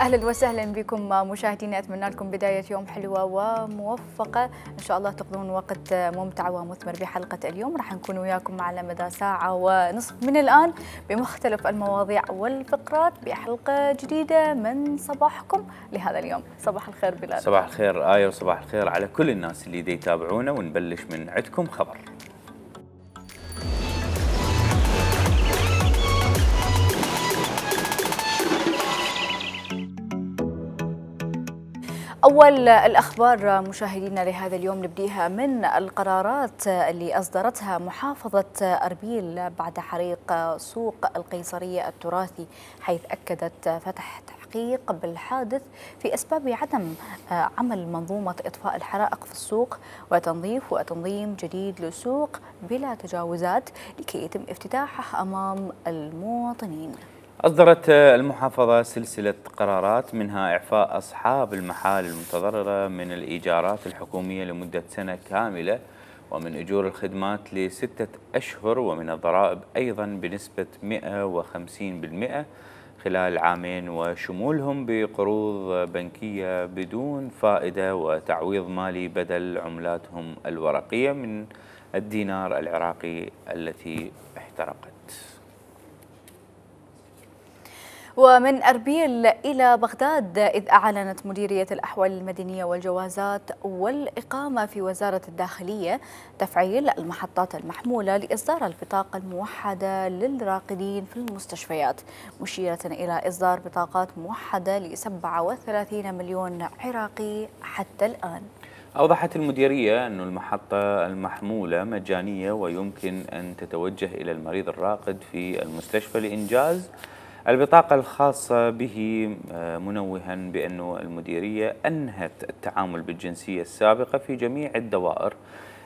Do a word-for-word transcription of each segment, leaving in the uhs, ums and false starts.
أهلا وسهلا بكم مشاهدينا، أتمنى لكم بداية يوم حلوة وموفقة، إن شاء الله تقضون وقت ممتع ومثمر بحلقة اليوم. راح نكون وياكم على مدى ساعة ونصف من الآن بمختلف المواضيع والفقرات بحلقة جديدة من صباحكم لهذا اليوم. صباح الخير بلال. صباح الخير آية، وصباح الخير على كل الناس اللي دي يتابعونا، ونبلش من عندكم خبر. أول الأخبار مشاهدينا لهذا اليوم نبديها من القرارات اللي أصدرتها محافظة أربيل بعد حريق سوق القيصرية التراثي، حيث أكدت فتح تحقيق بالحادث في أسباب عدم عمل منظومة إطفاء الحرائق في السوق وتنظيف وتنظيم جديد للسوق بلا تجاوزات لكي يتم افتتاحه أمام المواطنين. أصدرت المحافظة سلسلة قرارات، منها إعفاء أصحاب المحال المتضررة من الإيجارات الحكومية لمدة سنة كاملة، ومن أجور الخدمات لستة أشهر، ومن الضرائب أيضا بنسبة مئة وخمسين بالمئة خلال عامين، وشمولهم بقروض بنكية بدون فائدة وتعويض مالي بدل عملاتهم الورقية من الدينار العراقي التي احترقت. ومن أربيل إلى بغداد، إذ أعلنت مديرية الأحوال المدنية والجوازات والإقامة في وزارة الداخلية تفعيل المحطات المحمولة لإصدار البطاقة الموحدة للراقدين في المستشفيات، مشيرة إلى إصدار بطاقات موحدة ل سبعة وثلاثين مليون عراقي حتى الآن. أوضحت المديرية أن المحطة المحمولة مجانية، ويمكن أن تتوجه إلى المريض الراقد في المستشفى لإنجاز البطاقة الخاصة به، منوها بأن المديرية أنهت التعامل بالجنسية السابقة في جميع الدوائر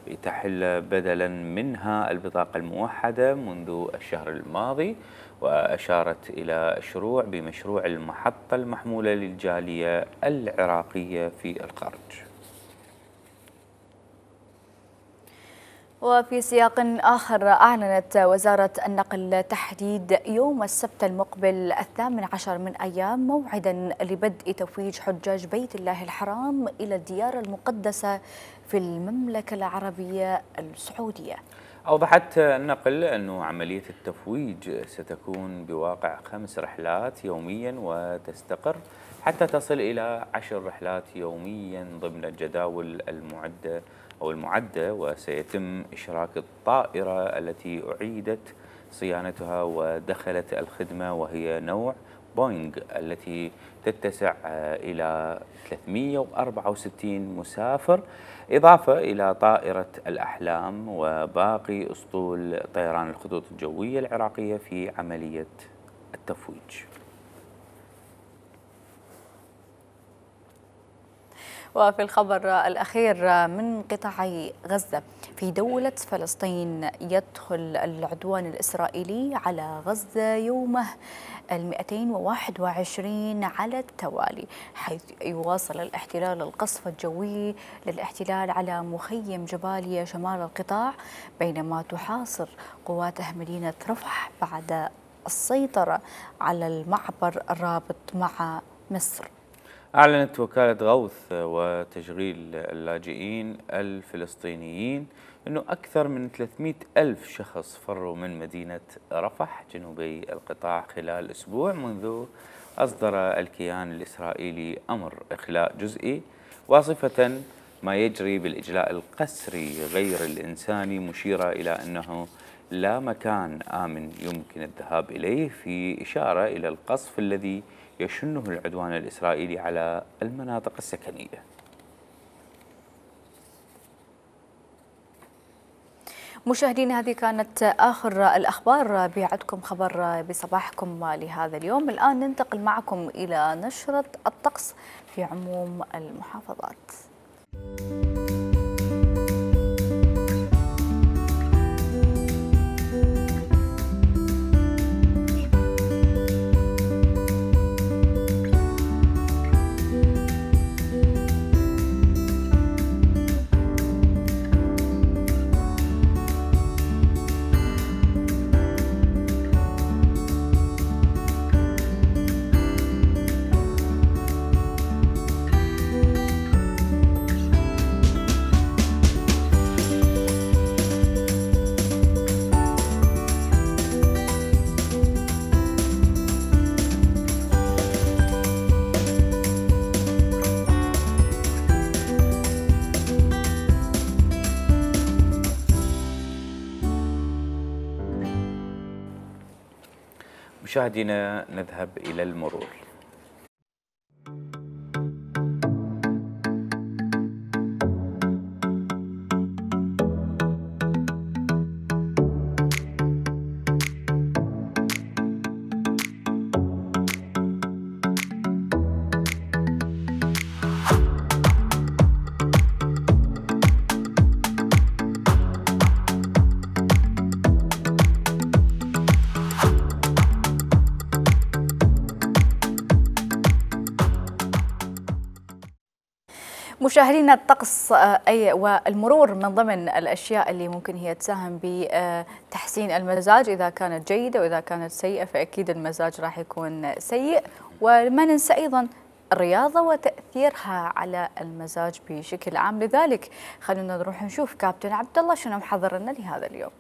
لتحل بدلا منها البطاقة الموحدة منذ الشهر الماضي، وأشارت إلى الشروع بمشروع المحطة المحمولة للجالية العراقية في الخارج. وفي سياق آخر، أعلنت وزارة النقل تحديد يوم السبت المقبل الثامن عشر من أيام موعدا لبدء تفويج حجاج بيت الله الحرام إلى الديار المقدسة في المملكة العربية السعودية. أوضحت النقل أن عملية التفويج ستكون بواقع خمس رحلات يوميا، وتستقر حتى تصل إلى عشر رحلات يوميا ضمن الجداول المعدة أو المعدة، وسيتم إشراك الطائرة التي أعيدت صيانتها ودخلت الخدمة، وهي نوع بوينغ التي تتسع إلى ثلاثمئة وأربعة وستين مسافر، إضافة إلى طائرة الأحلام وباقي أسطول طيران الخطوط الجوية العراقية في عملية التفويج. وفي الخبر الأخير من قطاع غزة، في دولة فلسطين يدخل العدوان الإسرائيلي على غزة يومه المئتين وواحد وعشرين على التوالي، حيث يواصل الاحتلال القصف الجوي للاحتلال على مخيم جباليا شمال القطاع، بينما تحاصر قواته مدينة رفح بعد السيطرة على المعبر الرابط مع مصر. أعلنت وكالة غوث وتشغيل اللاجئين الفلسطينيين أنه أكثر من ثلاثمئة ألف شخص فروا من مدينة رفح جنوبي القطاع خلال أسبوع منذ أصدر الكيان الإسرائيلي أمر إخلاء جزئي، واصفة ما يجري بالإجلاء القسري غير الإنساني، مشيرة إلى أنه لا مكان آمن يمكن الذهاب إليه، في إشارة إلى القصف الذي يشنه العدوان الإسرائيلي على المناطق السكنية. مشاهدينا، هذه كانت آخر الأخبار بعدكم خبر بصباحكم لهذا اليوم. الآن ننتقل معكم إلى نشرة الطقس في عموم المحافظات. مشاهدينا نذهب إلى المرور. مشاهدينا، الطقس أي والمرور من ضمن الأشياء اللي ممكن هي تساهم بتحسين المزاج، إذا كانت جيدة وإذا كانت سيئة فأكيد المزاج راح يكون سيء. وما ننسى أيضا الرياضة وتأثيرها على المزاج بشكل عام. لذلك خلونا نروح نشوف كابتن عبد الله شنو محضر لنا لهذا اليوم.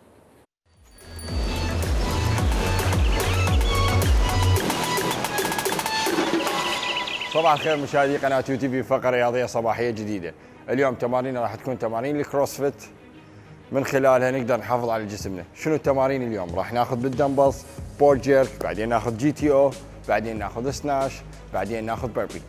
صباح الخير مشاهدي قناة يو تي في، فقرة رياضية صباحية جديدة. اليوم تمارين راح تكون تمارين الكروسفيت، من خلالها نقدر نحافظ على جسمنا. شنو التمارين اليوم؟ راح ناخذ بالدمبلز بول جيرك، بعدين ناخذ جي تي او، بعدين ناخذ سناش، بعدين ناخذ بيربي.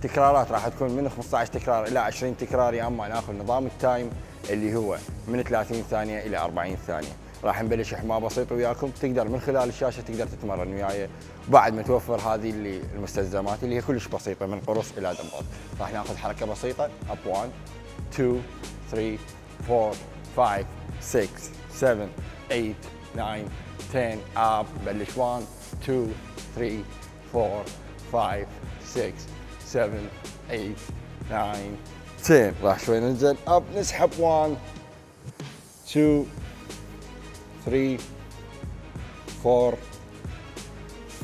تكرارات راح تكون من خمسة عشر تكرار الى عشرين تكرار، يا اما ناخذ نظام التايم اللي هو من ثلاثين ثانية الى أربعين ثانية. راح نبلش احماء بسيط وياكم، تقدر من خلال الشاشه تقدر تتمرن وياي، بعد ما توفر هذه اللي المستلزمات اللي هي كلش بسيطه من قرص الى دمبل. راح ناخذ حركه بسيطه اب واحد اثنين ثلاثة أربعة خمسة ستة سبعة ثمانية تسعة عشرة اب. بلش واحد اثنين ثلاثة أربعة خمسة ستة سبعة ثمانية تسعة عشرة. راح شوي ننزل اب، نسحب واحد اثنين ثلاثة أربعة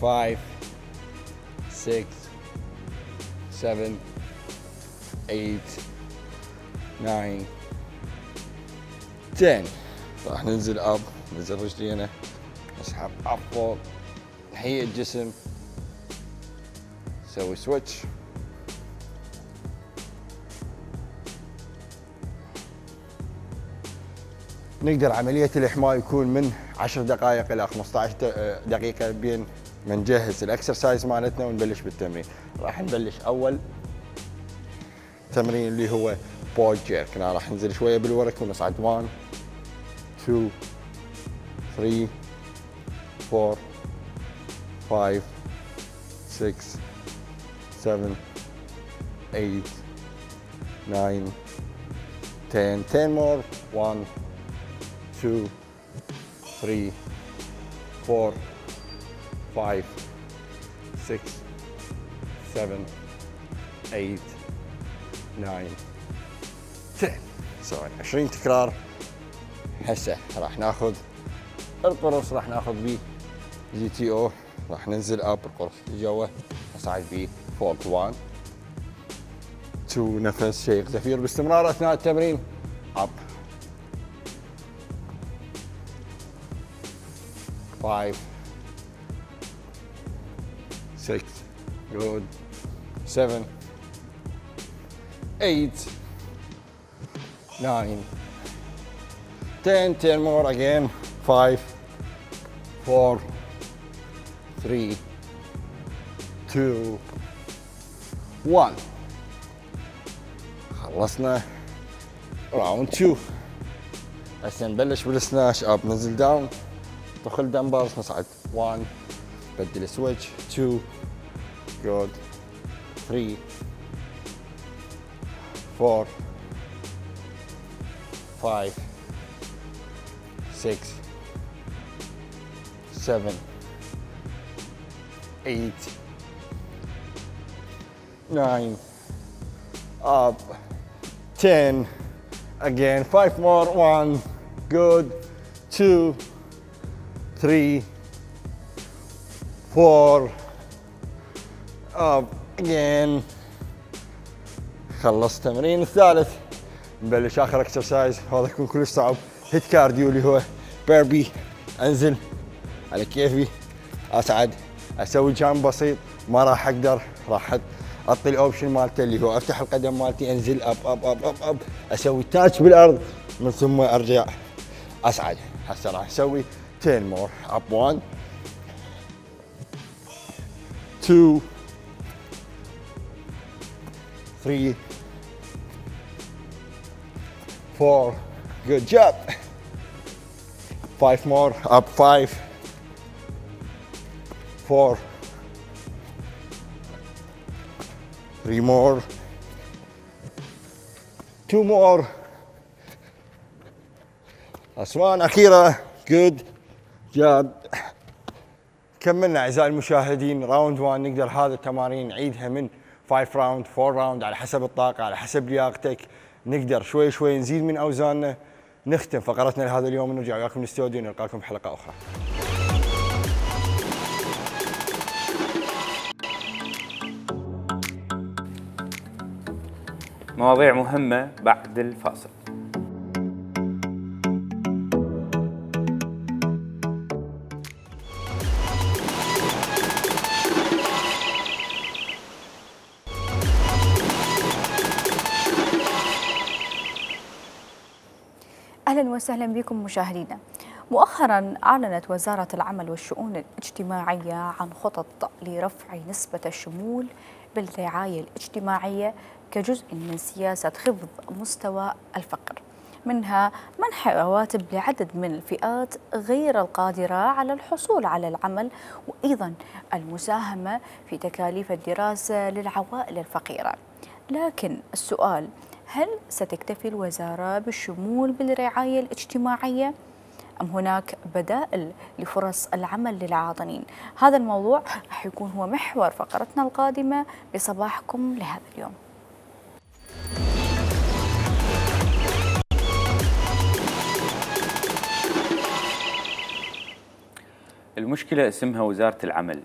خمسة ستة سبعة ثمانية تسعة عشرة. راح ننزل اب، ننزل رجلينا، نسحب اب فوق، نحيي الجسم، نسوي سويتش. نقدر عملية الإحماء يكون من عشر دقائق إلى خمسة عشر دقيقة بين ما نجهز الإكسرسايز مالتنا ونبلش بالتمرين. راح نبلش أول تمرين اللي هو بول جيرك. أنا راح ننزل شوية بالورك ونصعد واحد اثنين ثلاثة أربعة خمسة ستة سبعة ثمانية تسعة عشرة. عشرة more. واحد two, three, four, five, six, seven, eight, nine, ten. سوينا عشرين تكرار. هسه راح ناخذ القرص، راح ناخذ بيه جي تي او، راح ننزل اب القرص جوا، نصعد بيه فوق. واحد اثنين، نفس شيخ زفير باستمرار اثناء التمرين. اب five, six, good, seven, eight, nine, ten, ten more again, five, four, three, two, one. خلصنا راوند two. هسه نبلش بالسناش اب، ننزل داون، ندخل دمبرز، نصعد واحد، بدل سويتش اثنين، جود، ثلاثة، أربعة، خمسة، ستة، سبعة، ثمانية، تسعة، up, ten, again, five more, one, good, two, three, four, up, again. خلصت التمرين الثالث، نبلش اخر اكسرسايز، هذا يكون كلش صعب، هيت كارديو اللي هو بيربي. انزل على كيفي، اصعد، اسوي جامب بسيط، ما راح اقدر، راح اعطي الاوبشن مالته اللي هو افتح القدم مالتي، انزل اب اب اب اب اب، اسوي تاتش بالارض، من ثم ارجع اصعد. هسه راح اسوي ten more. up one, two, three, four. Good job. Five more. Up five, four, three more, two more. Last one. أخيرة. Good job. كملنا أعزائي المشاهدين راوند واحد. نقدر هذا التمارين نعيدها من خمسة راوند أربعة راوند على حسب الطاقة، على حسب لياقتك. نقدر شوي شوي نزيد من أوزاننا. نختم فقرتنا لهذا اليوم ونرجع وياكم الاستوديو نلقاكم بحلقة أخرى. مواضيع مهمة بعد الفاصل. أهلا وسهلا بكم مشاهدينا. مؤخرا أعلنت وزارة العمل والشؤون الاجتماعية عن خطط لرفع نسبة الشمول بالرعاية الاجتماعية كجزء من سياسة خفض مستوى الفقر، منها منح رواتب لعدد من الفئات غير القادرة على الحصول على العمل، وأيضا المساهمة في تكاليف الدراسة للعوائل الفقيرة. لكن السؤال، هل ستكتفي الوزارة بالشمول بالرعاية الاجتماعية أم هناك بدائل لفرص العمل للعاطلين؟ هذا الموضوع رح يكون هو محور فقرتنا القادمة بصباحكم لهذا اليوم. المشكلة اسمها وزارة العمل،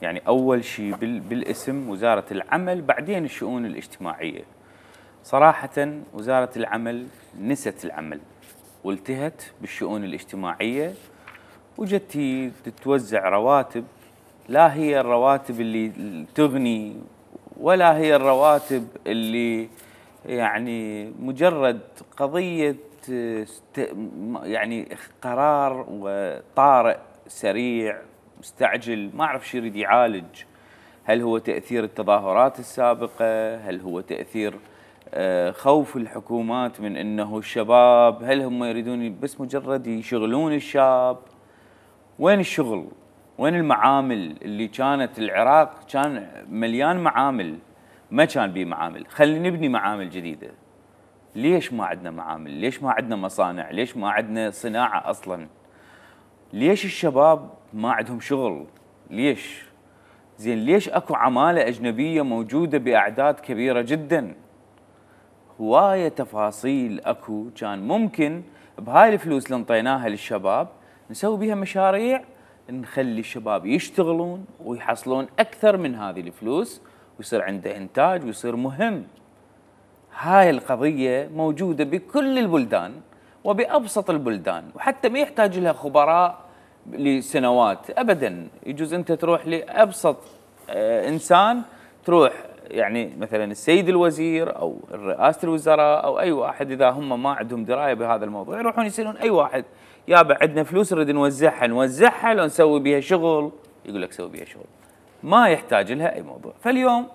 يعني أول شيء بالاسم وزارة العمل، بعدين الشؤون الاجتماعية. صراحة وزارة العمل نست العمل والتهت بالشؤون الاجتماعية، وجت تتوزع رواتب لا هي الرواتب اللي تغني ولا هي الرواتب اللي يعني مجرد قضية يعني قرار وطارئ سريع مستعجل ما أعرف شو يريد يعالج. هل هو تأثير التظاهرات السابقة؟ هل هو تأثير خوف الحكومات من أنه الشباب، هل هم يريدون بس مجرد يشغلون الشاب؟ وين الشغل؟ وين المعامل اللي كانت العراق كان مليان معامل، ما كان بيه معامل. خلينا نبني معامل جديدة. ليش ما عندنا معامل؟ ليش ما عندنا مصانع؟ ليش ما عندنا صناعة أصلا؟ ليش الشباب ما عندهم شغل؟ ليش؟ زين ليش اكو عمالة أجنبية موجودة بأعداد كبيرة جدا؟ هواية تفاصيل اكو كان ممكن بهاي الفلوس اللي انطيناها للشباب نسوي بها مشاريع نخلي الشباب يشتغلون ويحصلون أكثر من هذه الفلوس ويصير عنده إنتاج ويصير مهم. هاي القضية موجودة بكل البلدان وبأبسط البلدان، وحتى ما يحتاج لها خبراء لسنوات أبدا. يجوز أنت تروح لأبسط آه إنسان، تروح يعني مثلا السيد الوزير أو رئاسة الوزراء أو أي واحد، إذا هم ما عندهم دراية بهذا الموضوع يروحون يسألون أي واحد، يابا عندنا فلوس نريد نوزعها، نوزعها لو نسوي بها شغل، يقول لك سوي بها شغل، ما يحتاج لها أي موضوع. فاليوم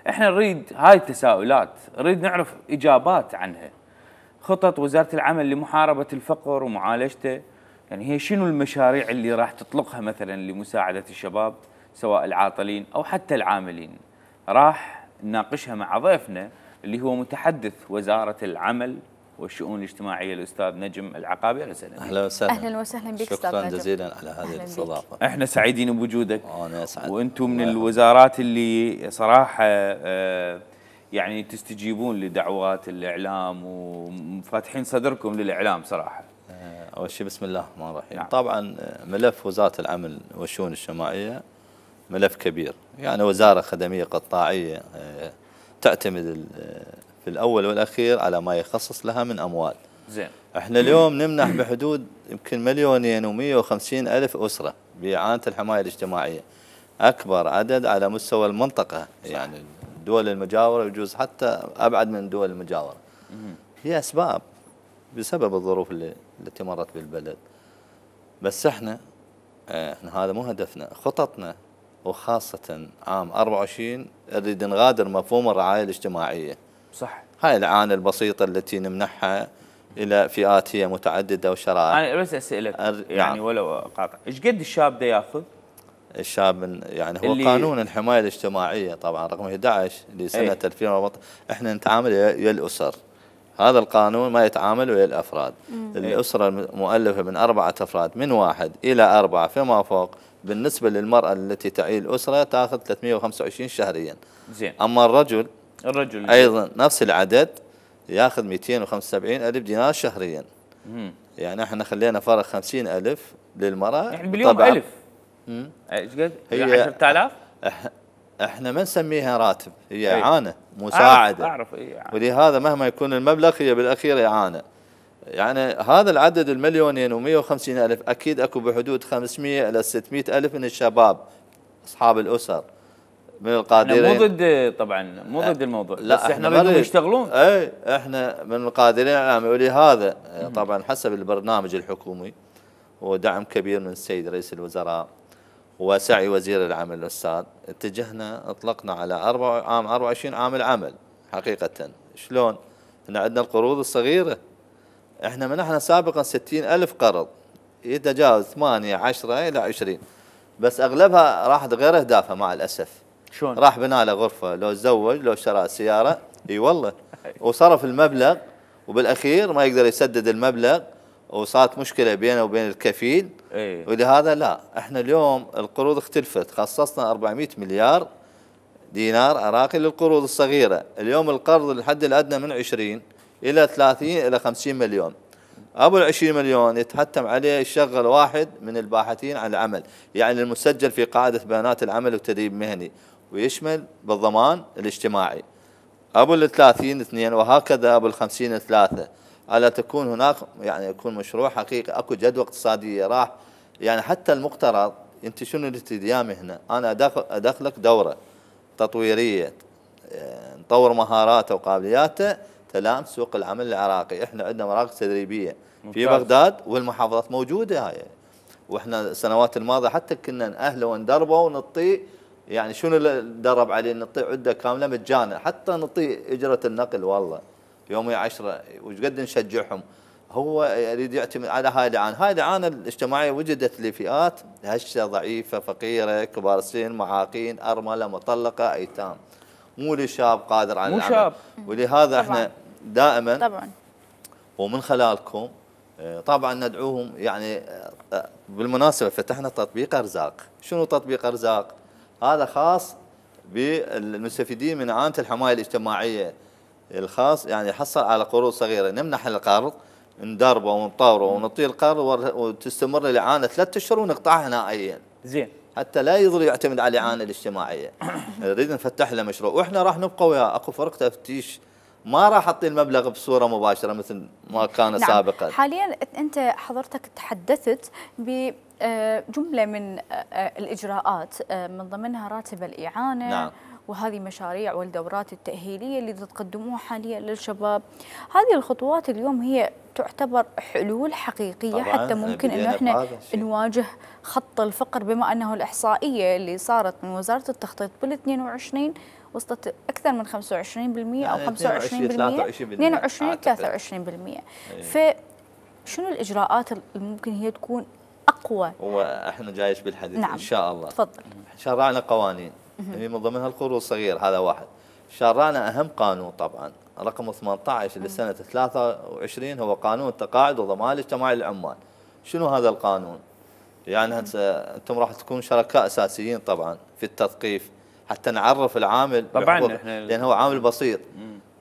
احنا نريد هاي التساؤلات، نريد نعرف إجابات عنها. خطط وزارة العمل لمحاربة الفقر ومعالجته، يعني هي شنو المشاريع اللي راح تطلقها مثلا لمساعدة الشباب سواء العاطلين أو حتى العاملين؟ راح نناقشها مع ضيفنا اللي هو متحدث وزارة العمل والشؤون الاجتماعية الأستاذ نجم العقابي. أهلا وسهلا. أهلا وسهلا. أهلا وسهلا بك أستاذ نجم. شكرا جزيلا على هذه الاستضافة. احنا سعيدين بوجودك. أنا أسعد. وأنتم من الوزارات اللي صراحة آه يعني تستجيبون لدعوات الإعلام وفاتحين صدركم للإعلام صراحة. أول شيء بسم الله الرحمن الرحيم. نعم. طبعا ملف وزارة العمل والشؤون الاجتماعية ملف كبير، يعني وزارة خدمية قطاعية تعتمد في الأول والأخير على ما يخصص لها من أموال. زين. احنا اليوم نمنح بحدود يمكن مليونين ومئة وخمسين ألف أسرة بإعانة الحماية الاجتماعية، أكبر عدد على مستوى المنطقة. صح. يعني الدول المجاورة يجوز حتى أبعد من الدول المجاورة. هي أسباب بسبب الظروف اللي التي مرت بالبلد. بس احنا احنا هذا مو هدفنا. خططنا وخاصة عام أربعة وعشرين نريد نغادر مفهوم الرعاية الاجتماعية. صح. هاي الإعانة البسيطة التي نمنحها إلى فئات هي متعددة وشرائح. أنا بس أسألك أر... يعني نعم. ولو قاطع، إيش قد الشاب ده ياخذ؟ الشاب من يعني هو اللي قانون الحماية الاجتماعية طبعا رقم أحد عشر لسنة أي. ألفين وأربعة عشر، احنا نتعامل ويا الأسر. هذا القانون ما يتعامل ويا الأفراد. الأسرة المؤلفة من أربعة أفراد من واحد إلى أربعة فيما فوق، بالنسبة للمرأة التي تعيل الأسرة تأخذ ثلاثمئة وخمسة وعشرين شهريا. زين. أما الرجل الرجل أيضا نفس العدد يأخذ مئتين وخمسة وسبعين ألف دينار شهريا. مم. يعني احنا خلينا فرق خمسين ألف للمرأة يعني باليوم طبعاً. ألف. ايش قد؟ هي عشرة آلاف؟ إح- احنا ما نسميها راتب، هي أي. إعانة مساعدة. أعرف, أعرف إيه. ولهذا مهما يكون المبلغ هي بالأخير إعانة. يعني هذا العدد المليونين ومئة وخمسين ألف أكيد أكو بحدود خمسمئة إلى ستمئة ألف من الشباب أصحاب الأسر من القادرين. احنا مو ضد طبعا مو ضد الموضوع، لا بس احنا احنا نريدهم نريد يشتغلون. اي احنا من القادرين على العمل، ولهذا طبعا حسب البرنامج الحكومي ودعم كبير من السيد رئيس الوزراء وسعي وزير العمل الاستاذ، اتجهنا اطلقنا على أربعة عام أربعة وعشرين عام العمل. حقيقة شلون؟ احنا عندنا القروض الصغيرة، احنا منحنا سابقا ستين ألف قرض يتجاوز ثمانية عشرة إلى عشرين، بس أغلبها راحت غير أهدافها مع الأسف. شلون؟ راح بنى له غرفة، لو تزوج، لو شرى سيارة، اي والله، وصرف المبلغ وبالأخير ما يقدر يسدد المبلغ وصارت مشكلة بينه وبين الكفيل. ايه. ولهذا لا، احنا اليوم القروض اختلفت، خصصنا أربعمئة مليار دينار عراقي للقروض الصغيرة. اليوم القرض الحد الأدنى من عشرين إلى ثلاثين إلى خمسين مليون. أبو العشرين مليون يتحتم عليه يشغل واحد من الباحثين عن العمل، يعني المسجل في قاعدة بيانات العمل والتدريب المهني، ويشمل بالضمان الاجتماعي. أبو الثلاثين اثنين، وهكذا أبو الخمسين ثلاثة، على تكون هناك يعني يكون مشروع حقيقي، أكو جدوى اقتصادية راح يعني حتى المقترض. أنت شنو اللي تديامي هنا؟ أنا أدخل أدخلك دورة تطويرية نطور مهاراته وقابلياته تلام سوق العمل العراقي. احنا عندنا مراكز تدريبيه في بغداد والمحافظات موجوده هاي، واحنا السنوات الماضيه حتى كنا نأهله وندربه ونعطيه يعني شنو اللي ندرب عليه، نعطيه عده كامله مجانا، حتى نعطيه اجره النقل والله يومي عشرة، وش قد نشجعهم. هو يريد يعتمد على هاي الاعانه، هاي الاعانه الاجتماعيه وجدت لفئات هشه ضعيفه فقيره كبار السن معاقين ارمله مطلقه ايتام، مو لشاب قادر على مو العمل. شاب. ولهذا طبعاً. احنا دائما طبعا ومن خلالكم طبعا ندعوهم. يعني بالمناسبه فتحنا تطبيق ارزاق. شنو تطبيق ارزاق؟ هذا خاص بالمستفيدين من اعانه الحمايه الاجتماعيه الخاص، يعني يحصل على قروض صغيره، نمنح القرض ندربه ونطوره ونعطيه القرض وتستمر الاعانه ثلاثة اشهر ونقطعها نهائيا. زين. حتى لا يظل يعتمد على الاعانه الاجتماعيه. نريد نفتح له مشروع، واحنا راح نبقى وياه. اكو فرق تفتيش، ما راح اعطي المبلغ بصوره مباشره مثل ما كان نعم. سابقا. حاليا انت حضرتك تحدثت بجمله من الاجراءات من ضمنها راتب الاعانه. نعم. وهذه مشاريع والدورات التأهيلية اللي تقدموها حاليا للشباب. هذه الخطوات اليوم هي تعتبر حلول حقيقية حتى ممكن انه احنا نواجه خط الفقر، بما انه الاحصائية اللي صارت من وزارة التخطيط بال اثنين وعشرين وصلت اكثر من خمسة وعشرين بالمئة او خمسة وعشرين بالمئة اثنين وعشرين ثلاثة وعشرين بالمئة. فشنو الاجراءات اللي ممكن هي تكون اقوى؟ واحنا جايش بالحديث. نعم. ان شاء الله. تفضل. شرعنا قوانين هي من ضمنها القروض الصغير، هذا واحد. شرعنا اهم قانون طبعا رقم ثمانية عشر لسنه ثلاثة وعشرين، هو قانون التقاعد والضمان الاجتماعي للعمال. شنو هذا القانون؟ يعني انتم راح تكونوا شركاء اساسيين طبعا في التثقيف حتى نعرف العامل طبعا احنا لان هو عامل بسيط.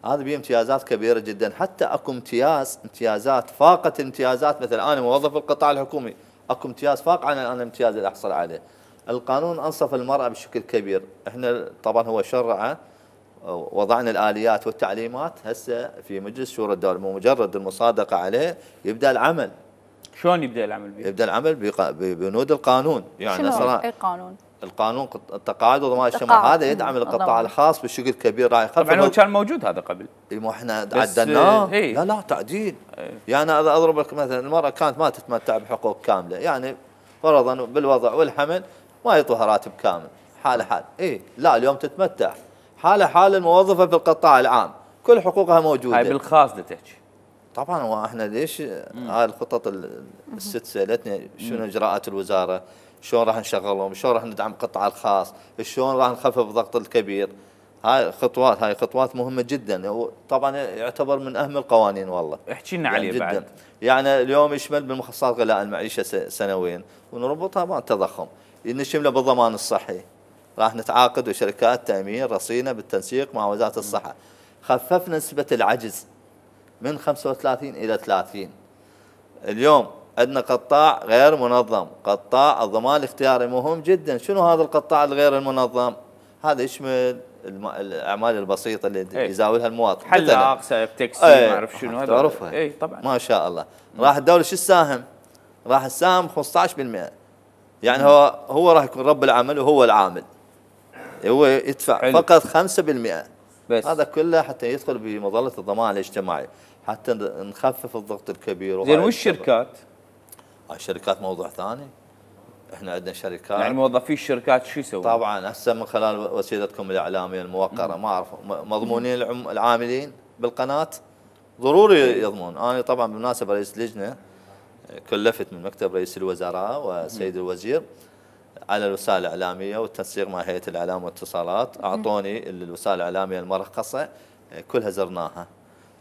هذا به امتيازات كبيره جدا، حتى اكو امتياز امتيازات فاقت امتيازات. مثلا انا موظف القطاع الحكومي، اكو امتياز فاق عن انا الامتياز اللي احصل عليه. القانون انصف المراه بشكل كبير. احنا طبعا هو شرعه، وضعنا الاليات والتعليمات هسه في مجلس شورى الدوله، مو مجرد المصادقه عليه يبدا العمل. شلون يبدا العمل بيه؟ يبدا العمل ببنود القانون. يعني شنو اي قانون؟ القانون التقاعد وضمان الاجتماعي هذا يدعم القطاع الخاص بشكل كبير، راح يخفف. طبعا هو كان موجود هذا قبل. مو احنا عدلناه. هي. لا لا تعديل. هي. يعني اضرب لك مثلا المراه كانت ما تتمتع بحقوق كامله، يعني فرضا بالوضع والحمل ما يعطوها راتب كامل، حاله حال اي لا اليوم تتمتع حاله حال الموظفه في القطاع العام كل حقوقها موجوده. هاي بالخاص دا تحكي. طبعا واحنا ليش هاي الخطط الست سالتني شنو اجراءات الوزاره؟ شلون راح نشغلهم؟ شلون راح ندعم القطاع الخاص؟ شلون راح نخفف الضغط الكبير؟ هاي خطوات هاي خطوات مهمه جدا طبعا يعتبر من اهم القوانين والله. احكي لنا عليه بعد. يعني اليوم يشمل بالمخصصات غلاء المعيشه سنويا ونربطها مع التضخم، نشمله بالضمان الصحي. راح نتعاقد وشركات تامين رصينه بالتنسيق مع وزاره الصحه. خففنا نسبه العجز من خمسة وثلاثين الى ثلاثين. اليوم عندنا قطاع غير منظم، قطاع الضمان الاختياري مهم جدا. شنو هذا القطاع الغير المنظم؟ هذا يشمل الاعمال البسيطه اللي ايه؟ يزاولها المواطن، حلاق، سائق تاكسي، ما اعرف شنو هذا. تعرفها اي طبعا ما شاء الله. راح الدوله شو تساهم؟ راح تساهم خمسة عشر بالمئة. يعني مم. هو هو راح يكون رب العمل وهو العامل، هو يدفع حلو. فقط خمسة بالمئة بس. هذا كله حتى يدخل بمظله الضمان الاجتماعي، حتى نخفف الضغط الكبير. زين والشركات؟ الشركات موضوع ثاني. احنا عندنا شركات يعني موظفي الشركات شو يسوون؟ طبعا هسه من خلال وسيلتكم الاعلاميه الموقره ما اعرف مضمونين العاملين بالقناه ضروري يضمون. انا طبعا بالمناسبه رئيس لجنه كلفت من مكتب رئيس الوزراء والسيد الوزير على الوسائل الاعلاميه والتنسيق مع هيئه الاعلام والاتصالات. اعطوني الوسائل الاعلاميه المرخصه كلها زرناها.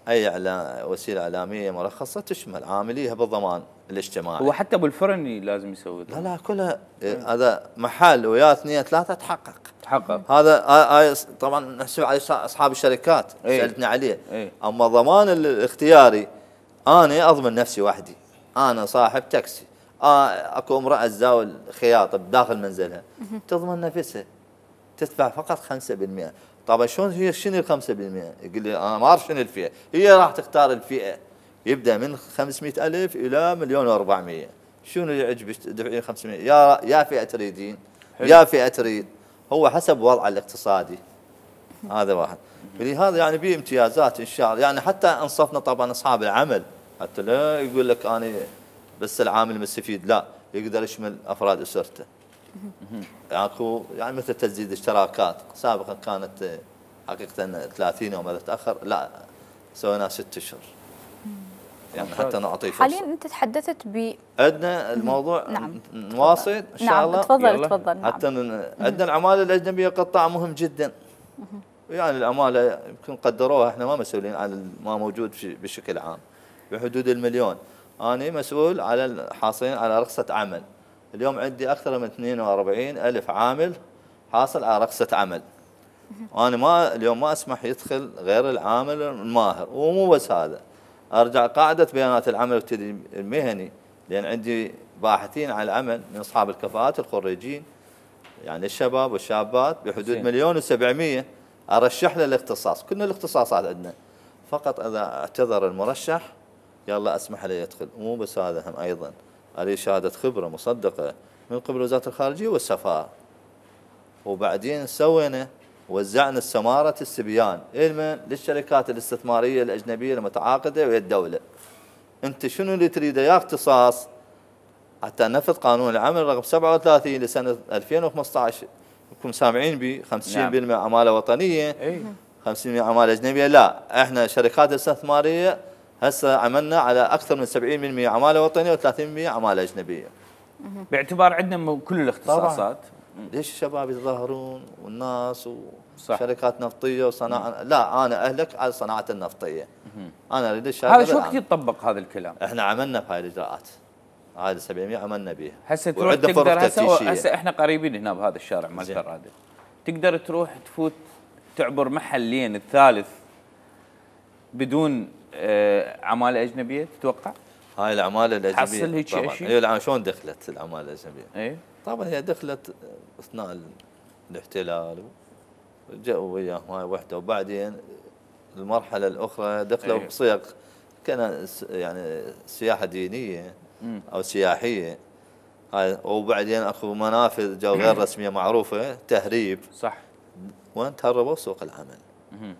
اي اعلام وسيله اعلاميه مرخصه تشمل عامليها بالضمان الاجتماعي. هو حتى ابو الفرني لازم يسوي لا لا كلها هذا محل ويا اثنين ثلاثه تحقق تحقق. هذا هاي طبعا نحسب على اصحاب الشركات سالتني عليه. ايه؟ اما الضمان الاختياري انا اضمن نفسي وحدي. انا صاحب تاكسي، آه اكو امراه تزاول خياطه بداخل منزلها تضمن نفسها تدفع فقط خمسة بالمئة. طبعا شلون هي شنو ال خمسة بالمئة؟ يقول لي انا ما اعرف شنو الفئه، هي راح تختار الفئه يبدا من خمسمئة ألف الى مليون وأربعمئة. شنو اللي يعجبك تدفعين خمسمئة؟ يا يا فئه تريدين يا فئه تريد، هو حسب وضعه الاقتصادي. هذا واحد. فلهذا يعني به امتيازات ان شاء الله. يعني حتى انصفنا طبعا اصحاب العمل، حتى لا يقول لك انا بس العامل مستفيد، لا يقدر يشمل افراد اسرته. اكو يعني مثل تسديد اشتراكات سابقا كانت حقيقه ثلاثين يوم اذا تاخر لا سويناها ست اشهر. يعني حتى نعطي فرصه. حاليا انت تحدثت ب عندنا الموضوع نعم. نواصل ان شاء نعم. الله. تفضل تفضل. نعم. حتى عندنا العماله الاجنبيه قطاع مهم جدا. يعني العماله يمكن قدروها احنا ما مسؤولين عن ما موجود بشكل عام بحدود المليون. انا مسؤول على الحاصلين على رخصه عمل. اليوم عندي اكثر من اثنين وأربعين ألف عامل حاصل على رخصه عمل. انا ما اليوم ما اسمح يدخل غير العامل الماهر. ومو بس هذا، ارجع قاعده بيانات العمل والتدريب المهني، لان عندي باحثين عن العمل من اصحاب الكفاءات الخريجين يعني الشباب والشابات بحدود مليون وسبعمئة ارشح له الاختصاص. كنا الاختصاصات عندنا، فقط اذا اعتذر المرشح يلا اسمح له يدخل. ومو بس هذا، هم ايضا عليه شهاده خبره مصدقه من قبل وزاره الخارجيه والسفاره. وبعدين سوينا وزعنا السماره السبيان علما للشركات الاستثماريه الاجنبيه المتعاقده ويا الدوله. انت شنو اللي تريده يا اختصاص حتى نفذ قانون العمل رقم سبعة وثلاثين لسنه ألفين وخمسة عشر. انكم سامعين ب خمسين بالمئة عماله وطنيه خمسين بالمئة عماله اجنبيه. لا احنا شركات استثماريه هسه عملنا على اكثر من سبعين بالمئة عماله وطنيه وثلاثين بالمئة عماله اجنبيه. باعتبار عندنا كل الاختصاصات. ليش الشباب يتظاهرون والناس وشركات نفطيه وصناعه؟ لا انا اهلك على الصناعه النفطيه. انا اريد الشهاده. هذا شو وقت يطبق هذا الكلام؟ احنا عملنا بهاي الاجراءات. هذه سبعمئة عملنا بها. هسه تروح تقدر هسه هسه احنا قريبين هنا بهذا الشارع مال فرادة. تقدر تروح تفوت تعبر محلين الثالث بدون آه عماله اجنبيه تتوقع؟ هاي العماله الاجنبيه تحصل هيك شيء؟ هي شلون دخلت العماله الاجنبيه؟ اي طبعا هي دخلت اثناء الاحتلال وجاءوا وياهم هاي وحده، وبعدين المرحله الاخرى دخلوا أيه. بصيغ كان يعني سياحه دينيه او سياحيه. هاي وبعدين اكو منافذ جو غير رسميه معروفه تهريب. صح. وين تهربوا سوق العمل.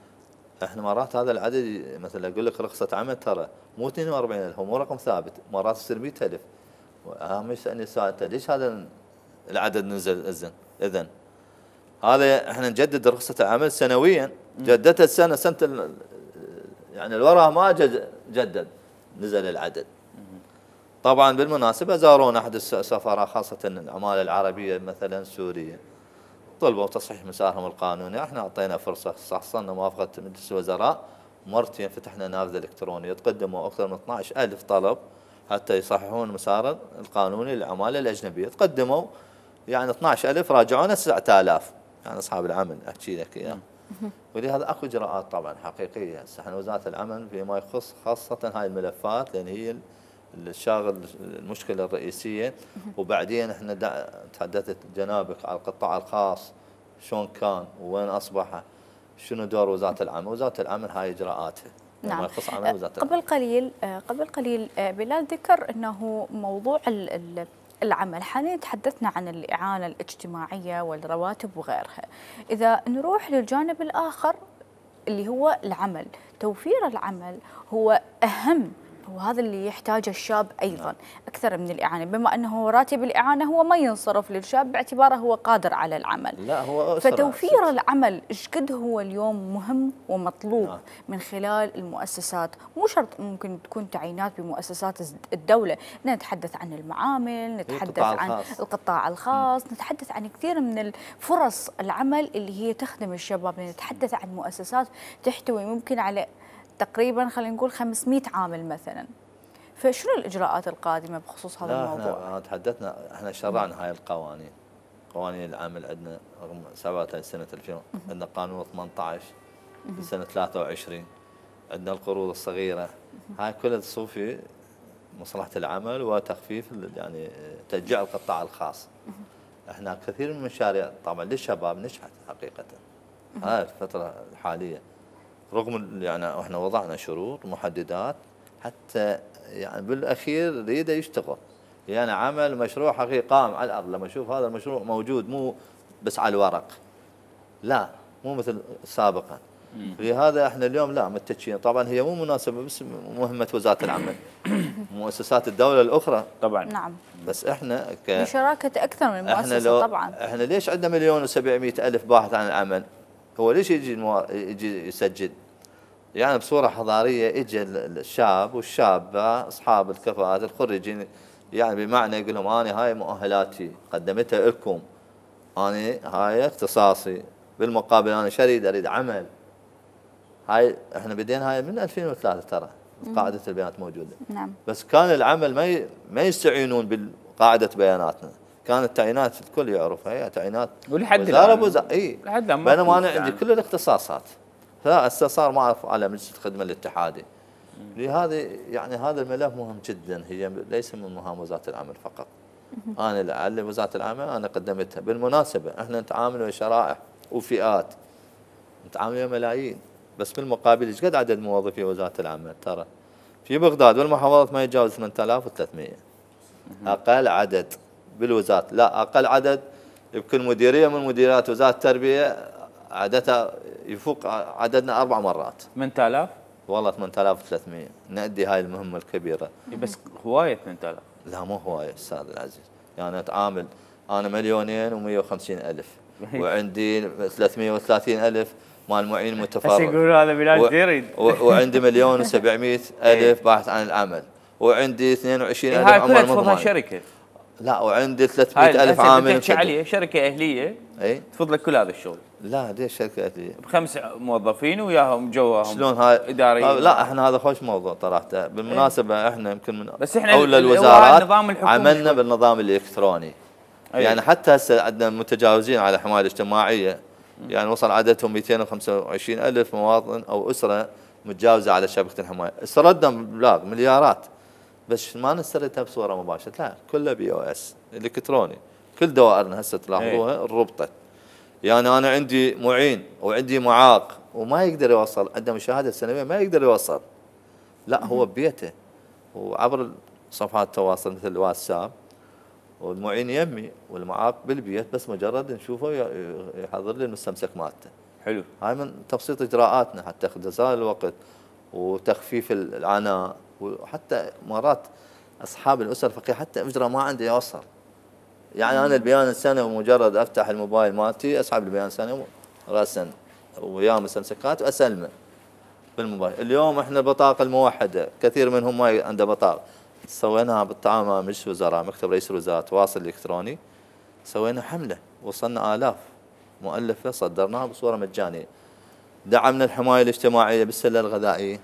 احنا مرات هذا العدد مثلا اقول لك رخصه عمل ترى مو اثنين وأربعين ألف، هو مو رقم ثابت، مرات يصير مئة ألف. اهم يسالني سؤال ليش هذا العدد نزل اذن؟ اذن هذا احنا نجدد رخصه العمل سنويا، جددتها السنه سنه ال- يعني الوراء ما جد- جدد، نزل العدد. طبعا بالمناسبه زارونا احد السفراء خاصه العماله العربيه مثلا سوريا، طلبوا تصحيح مسارهم القانوني، احنا اعطينا فرصه، حصلنا موافقه مجلس الوزراء مرتين، فتحنا نافذه الكترونيه، تقدموا اكثر من اثنعش ألف طلب حتى يصححون مسار القانوني للعماله الاجنبيه، تقدموا يعني اثنعش ألف راجعونا تسعة آلاف، يعني اصحاب العمل احكي لك اياه. ولهذا اكو اجراءات طبعا حقيقيه، هسه احنا وزاره العمل فيما يخص خاصه هاي الملفات لان هي الشاغل المشكله الرئيسيه. وبعدين احنا تحدثت جنابك على القطاع الخاص شلون كان وين اصبح، شنو دور وزاره العمل؟ وزاره العمل هاي اجراءاتها نعم. ما يخص عمل وزاره قبل العمل. قليل قبل قليل بلال ذكر انه موضوع العمل، حاليا تحدثنا عن الاعانه الاجتماعيه والرواتب وغيرها. اذا نروح للجانب الاخر اللي هو العمل، توفير العمل هو اهم، وهذا اللي يحتاجه الشاب أيضا أكثر من الإعانة، بما أنه راتب الإعانة هو ما ينصرف للشاب باعتباره هو قادر على العمل. لا هو أسرع. فتوفير العمل إيش قد هو اليوم مهم ومطلوب نعم. من خلال المؤسسات، مو شرط ممكن تكون تعيينات بمؤسسات الدولة، نتحدث عن المعامل، نتحدث عن الخاص. القطاع الخاص، نتحدث عن كثير من الفرص العمل اللي هي تخدم الشباب، نتحدث عن مؤسسات تحتوي ممكن على تقريبا خلينا نقول خمسمئة عامل مثلا. فشنو الاجراءات القادمه بخصوص هذا لا الموضوع؟ احنا تحدثنا، احنا شرعنا هاي القوانين، قوانين العمل عندنا رقم سبعة وثلاثين سنه ألفين، عندنا قانون ثمانية عشر سنه ثلاثة وعشرين، عندنا القروض الصغيره، هاي كلها تصب في مصلحه العمل وتخفيف يعني تشجيع القطاع الخاص. احنا كثير من المشاريع طبعا للشباب نجحت حقيقه هاي الفتره الحاليه، رغم يعني احنا وضعنا شروط محددات حتى يعني بالاخير يريد يشتغل، يعني عمل مشروع حقيقي قائم على الارض. لما اشوف هذا المشروع موجود مو بس على الورق، لا مو مثل سابقا. لهذا احنا اليوم لا متجهين، طبعا هي مو مناسبه بس مهمه وزاره العمل، مؤسسات الدوله الاخرى طبعا. نعم. بس احنا ك بشراكه اكثر من احنا مؤسسه لو طبعا. احنا ليش عندنا مليون وسبعمئة الف باحث عن العمل؟ هو ليش يجي المو... يجي يسجل؟ يعني بصوره حضاريه اجى الشاب والشابه اصحاب الكفاءات الخريجين، يعني بمعنى يقول لهم انا هاي مؤهلاتي قدمتها لكم، انا هاي اختصاصي، بالمقابل انا شريد اريد عمل. هاي احنا بدينا هاي من ألفين وثلاثة ترى قاعده البيانات موجوده. نعم. بس كان العمل ما ي... ما يستعينون بقاعده بياناتنا، كانت تعيينات الكل يعرفها، هي تعيينات ولحد وزاره الان بوزاره اي، لحد الان بينما انا عندي كل الاختصاصات، فهسه صار ما اعرف على مجلس الخدمه الاتحادي. لهذا يعني هذا الملف مهم جدا، هي ليس من مهام وزاره العمل فقط. انا لعل وزاره العمل انا قدمتها. بالمناسبه احنا نتعامل ويا شرائح وفئات، نتعامل ويا ملايين، بس بالمقابل ايش قد عدد موظفي وزاره العمل؟ ترى في بغداد والمحافظات ما يتجاوز ثمانية آلاف وثلاثمئة، اقل عدد بالوزاره، لا اقل عدد يمكن مديريه من مديريات وزاره التربيه عددها يفوق عددنا اربع مرات. ثمانية آلاف والله ثمانية آلاف وثلاثمئة نأدي هاي المهمه الكبيره. بس هوايه ثمانية آلاف. لا مو هوايه استاذ العزيز، يعني اتعامل انا مليونين ومئة وخمسين الف وعندي ثلاثمئة وثلاثين الف مال معين متفرغ، بس يقولوا هذا بلال زيري وعندي مليون وسبعمئة الف باحث عن العمل، وعندي اثنين وعشرين الف هاي كلها عمال تفضلها مضمون. شركه. لا وعندي ثلاثمئة الف عامل تحكي عليه شركه اهليه اي تفضل لك كل هذا الشغل. لا ليش شركه اهليه؟ بخمس موظفين وياهم جواهم شلون هاي اداريين. لا احنا هذا خوش موضوع صراحه. بالمناسبه احنا يمكن من بس احنا اولى الوزارات عملنا بالنظام الالكتروني. أيه. يعني حتى هسه عندنا متجاوزين على الحمايه الاجتماعيه، يعني وصل عددهم مئتين وخمسة وعشرين الف مواطن او اسره متجاوزه على شبكه الحمايه، استردنا مبلغ مليارات، بس ما نستردها بصوره مباشره، لا كله بي او اس الكتروني، كل دوائرنا هسه تلاحظوها ربطت. يعني انا عندي معين وعندي معاق وما يقدر يوصل، عنده مشاهده سنويه ما يقدر يوصل، لا هو ببيته وعبر صفحات التواصل مثل الواتساب، والمعين يمي والمعاق بالبيت، بس مجرد نشوفه يحضر لي المستمسك مالته. حلو. هاي من تبسيط اجراءاتنا حتى اختصار الوقت وتخفيف العناء، وحتى مرات اصحاب الاسر الفقيره حتى اجره ما عنده يوصل، يعني انا البيان السنه مجرد افتح الموبايل مالتي اسحب البيان السنه راسا ويا مستمسكات واسلمه بالموبايل. اليوم احنا البطاقه الموحده كثير منهم ما عنده بطاقه، سويناها بالتعاون مع مجلس الوزراء مكتب رئيس الوزراء تواصل الكتروني، سوينا حمله وصلنا آلاف مؤلفه صدرناها بصوره مجانيه. دعمنا الحمايه الاجتماعيه بالسله الغذائيه،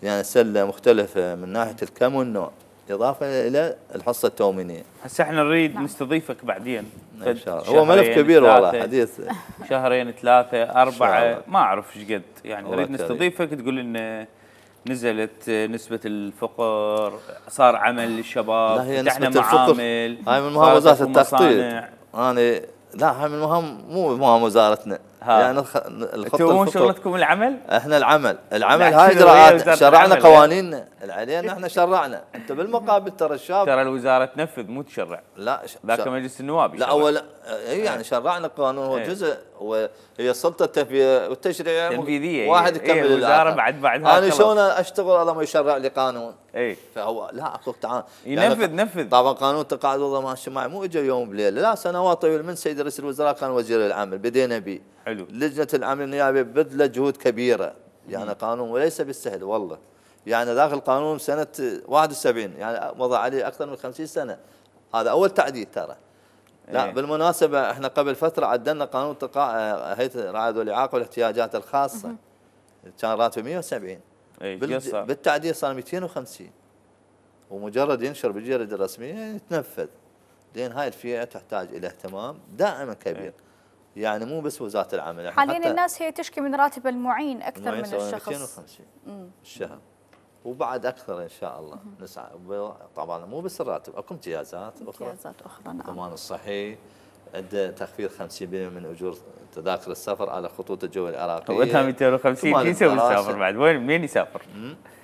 يعني سله مختلفه من ناحيه الكم والنوع، اضافه الى الحصه التومينيه. هسه احنا نريد نستضيفك بعدين ان شاء الله. هو ملف كبير والله، حديث شهرين ثلاثه اربعه ما اعرف ايش قد، يعني نريد نستضيفك تقول لنا نزلت نسبة الفقر، صار عمل للشباب، فتحنا معامل، هاي من مهام وزارة التخطيط. أنا لا هاي من مهام مو مهام وزارتنا، يعني الخطة مو شغلتكم العمل؟ احنا العمل، العمل هاي اجراءات شرعنا قوانيننا، علينا احنا شرعنا، انت بالمقابل ترى الشاب ترى الوزارة تنفذ مو تشرع. لا ذاك مجلس النواب لا اول يعني شرعنا قانون هو جزء وهي السلطه التنفيذيه والتشريعيه تنفيذيه واحد يكمل ايه الوزاره بعد بعدها. انا شلون اشتغل الله ما يشرع لي قانون؟ اي فهو لا اكو تعال ينفذ يعني نفذ. طبعا قانون التقاعد والضمان الاجتماعي مو اجى يوم بليله، لا سنوات طويله من سيد رئيس الوزراء كان وزير العمل بدينا به. حلو. لجنه العمل النيابي بذلت جهود كبيره، يعني مم. قانون وليس بالسهل والله. يعني ذاك القانون سنه واحد وسبعين يعني مضى عليه اكثر من خمسين سنه. هذا اول تعديل ترى. لا ايه. بالمناسبه احنا قبل فتره عدلنا قانون هيئه الرعايه والاعاقه والاحتياجات الخاصه. مم. كان راتبه مئة وسبعين. ايه بالتعديل صار مئتين وخمسين. ومجرد ينشر بالجريده الرسميه يتنفذ. لان هاي الفئه تحتاج الى اهتمام دائما كبير. ايه. يعني مو بس وزاره العمل. حاليا الناس هي تشكي من راتب المعين اكثر من الشخص. مئتين وخمسين بالشهر. وبعد اكثر ان شاء الله نسعى. طبعا مو بس الراتب، اكو امتيازات اخرى. امتيازات اخرى نعم. الضمان الصحي، عنده تخفيض خمسين بالمئة من اجور تذاكر السفر على خطوط الجو العراقيه. وقتها مئتين وخمسين شو يسوي يسافر بعد؟ وين منين يسافر؟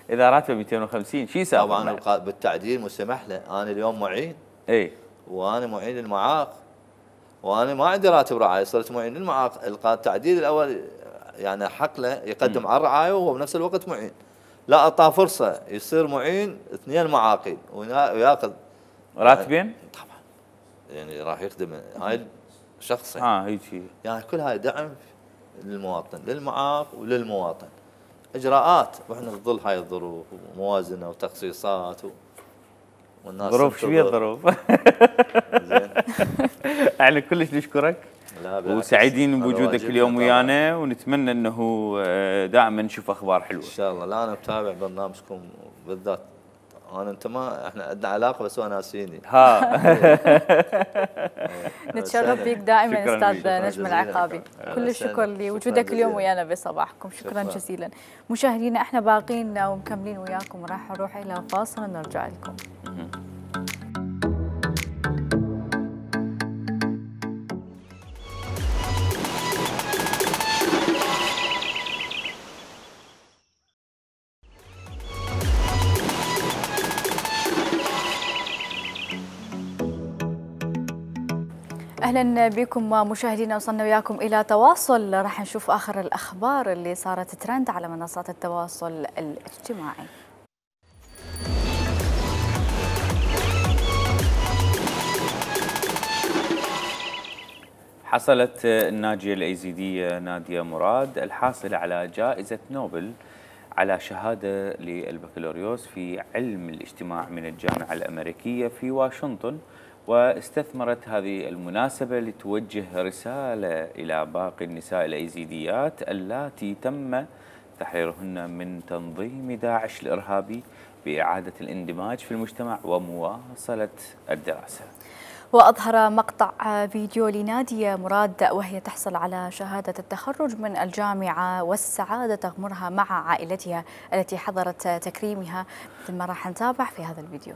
اذا راتبه مئتين وخمسين شو يسافر؟ طبعا بالتعديل مسمح له، انا اليوم معين. اي وانا معين للمعاق. وانا ما عندي راتب رعايه، صرت معين للمعاق، التعديل الاول يعني حق له يقدم م. على الرعايه وهو بنفس الوقت معين. لا اعطاه فرصه يصير معين اثنين معاقين وياخذ راتبين؟ طبعا يعني راح يخدم هاي شخصين. اه هيك يعني كل هاي دعم للمواطن، للمعاق وللمواطن. اجراءات واحنا في ظل هاي الظروف وموازنه وتخصيصات و... والناس ظروف شو هي الظروف؟ زين احنا كلش نشكرك وسعيدين بوجودك اليوم ويانا، ونتمنى انه دائما نشوف اخبار حلوه ان شاء الله. لا انا متابع برنامجكم بالذات، انا انت ما احنا عندنا علاقه بس هو ناسيني. ها نتشرف بك دائما استاذ نجم العقابي. كل الشكر لوجودك اليوم ويانا بصباحكم، شكرا جزيلا. مشاهدينا احنا باقين ومكملين وياكم، راح نروح الى فاصل ونرجع لكم. اهلا بكم مشاهدينا، وصلنا وياكم الى تواصل، راح نشوف اخر الاخبار اللي صارت ترند على منصات التواصل الاجتماعي. حصلت الناجيه الايزيديه ناديه مراد الحاصله على جائزه نوبل على شهاده للبكالوريوس في علم الاجتماع من الجامعه الامريكيه في واشنطن، واستثمرت هذه المناسبة لتوجه رسالة إلى باقي النساء الأيزيديات اللاتي تم تحريرهن من تنظيم داعش الإرهابي بإعادة الاندماج في المجتمع ومواصلة الدراسة. وأظهر مقطع فيديو لنادية مراد وهي تحصل على شهادة التخرج من الجامعة والسعادة تغمرها مع عائلتها التي حضرت تكريمها، مثل ما راح نتابع في هذا الفيديو.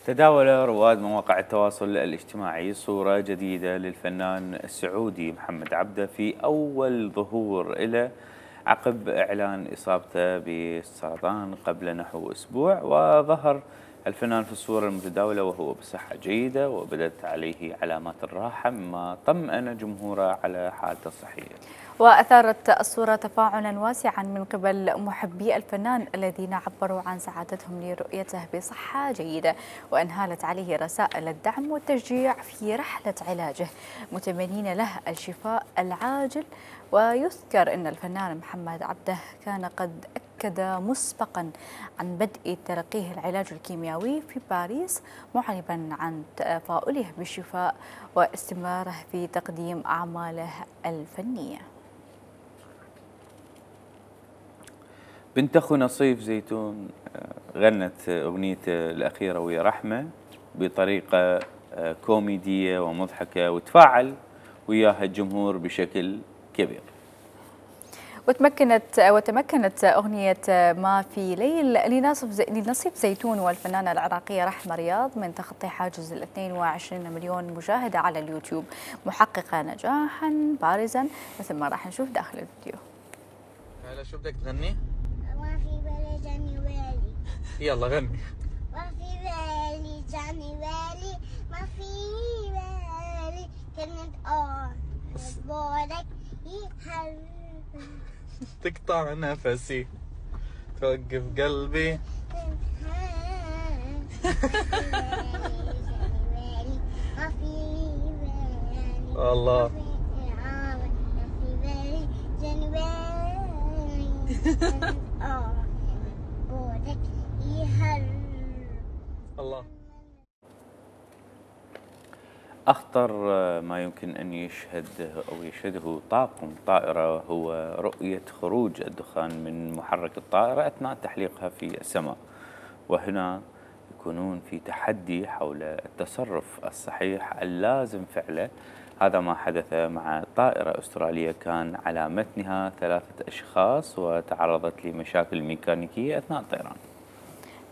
تداول رواد مواقع التواصل الاجتماعي صورة جديدة للفنان السعودي محمد عبده في أول ظهور له عقب إعلان إصابته بالسرطان قبل نحو أسبوع. وظهر الفنان في الصورة المتداولة وهو بصحة جيدة وبدت عليه علامات الراحة، مما طمأن جمهوره على حالته الصحية. وأثارت الصورة تفاعلا واسعا من قبل محبي الفنان الذين عبروا عن سعادتهم لرؤيته بصحة جيدة، وأنهالت عليه رسائل الدعم والتشجيع في رحلة علاجه، متمنين له الشفاء العاجل. ويذكر أن الفنان محمد عبده كان قد أكد مسبقا عن بدء تلقيه العلاج الكيميائي في باريس، معربا عن تفاؤله بالشفاء واستمراره في تقديم أعماله الفنية. بنت أخو نصيف زيتون غنت أغنيته الأخيرة ويا رحمة بطريقة كوميدية ومضحكة، وتفاعل وياها الجمهور بشكل كبير. وتمكنت وتمكنت أغنية ما في ليل لنصيب زيتون والفنانة العراقية رحمة رياض من تخطي حاجز ال اثنين وعشرين مليون مشاهدة على اليوتيوب، محققة نجاحا بارزا مثل ما راح نشوف داخل الفيديو. هلا شو بدك تغني؟ ما في بالي جاني بالي. يلا غني. ما في بالي جاني بالي، ما في بالي كلمة آه بورك يحل. تقطع نفسي توقف قلبي. ما في بالي الله. ما في بالي جاني بالي آه بورك يحل. الله. أخطر ما يمكن أن يشهد أو يشهده طاقم طائرة هو رؤية خروج الدخان من محرك الطائرة أثناء تحليقها في السماء، وهنا يكونون في تحدي حول التصرف الصحيح اللازم فعله. هذا ما حدث مع طائرة أسترالية كان على متنها ثلاثة أشخاص وتعرضت لمشاكل ميكانيكية أثناء الطيران.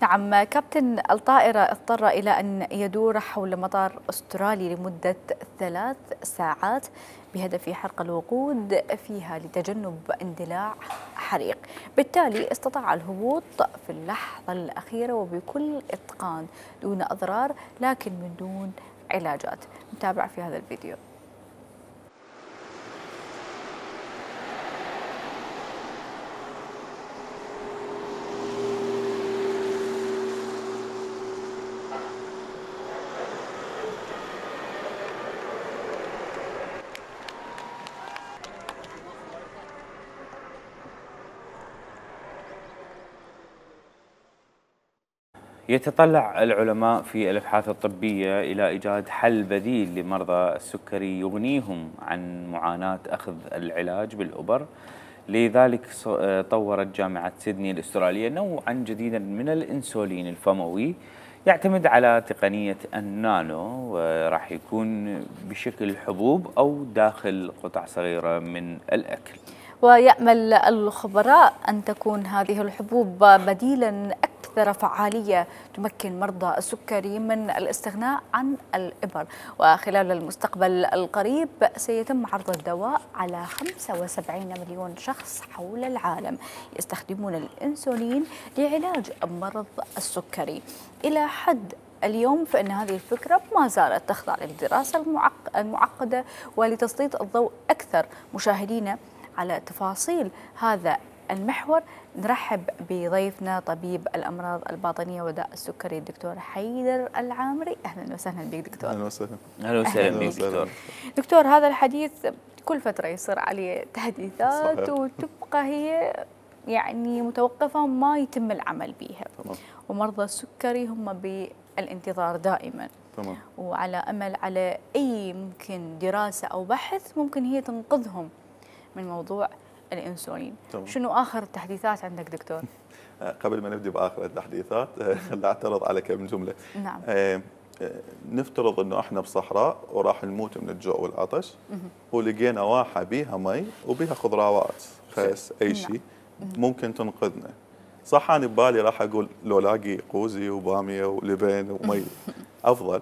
نعم، كابتن الطائرة اضطر إلى أن يدور حول مطار أسترالي لمدة ثلاث ساعات بهدف حرق الوقود فيها لتجنب اندلاع حريق، بالتالي استطاع الهبوط في اللحظة الأخيرة وبكل إتقان دون أضرار لكن من دون علاجات. نتابع في هذا الفيديو. يتطلع العلماء في الأبحاث الطبية إلى إيجاد حل بديل لمرضى السكري يغنيهم عن معاناة أخذ العلاج بالإبر. لذلك طورت جامعة سيدني الأسترالية نوعا جديدا من الإنسولين الفموي يعتمد على تقنية النانو، وراح يكون بشكل حبوب أو داخل قطع صغيرة من الأكل. ويأمل الخبراء أن تكون هذه الحبوب بديلا أكثر فعالية تمكن مرضى السكري من الاستغناء عن الإبر. وخلال المستقبل القريب سيتم عرض الدواء على خمسة وسبعين مليون شخص حول العالم يستخدمون الإنسولين لعلاج مرض السكري. إلى حد اليوم فإن هذه الفكرة ما زالت تخضع للدراسة المعقدة، ولتسليط الضوء أكثر مشاهدينا على تفاصيل هذا المحور نرحب بضيفنا طبيب الأمراض الباطنية وداء السكري الدكتور حيدر العامري. أهلا وسهلا بك دكتور. أهلا وسهلا. أهلا وسهلا بك دكتور. دكتور، هذا الحديث كل فترة يصير عليه تحديثات صحيح. وتبقى هي يعني متوقفة ما يتم العمل بها. تمام. ومرضى السكري هم بالانتظار دائما. تمام. وعلى أمل على أي ممكن دراسة أو بحث ممكن هي تنقذهم من موضوع الانسولين. تمام. شنو اخر التحديثات عندك دكتور؟ قبل ما نبدأ بآخر التحديثات خليني أعترض على كم جملة. نعم. آه، نفترض إنه إحنا بصحراء وراح نموت من الجوع والعطش ولقينا واحة بيها مي وبيها خضروات خس أي شيء ممكن تنقذنا. صح انا ببالي راح اقول لو لاقي قوزي وباميه ولبن ومي افضل،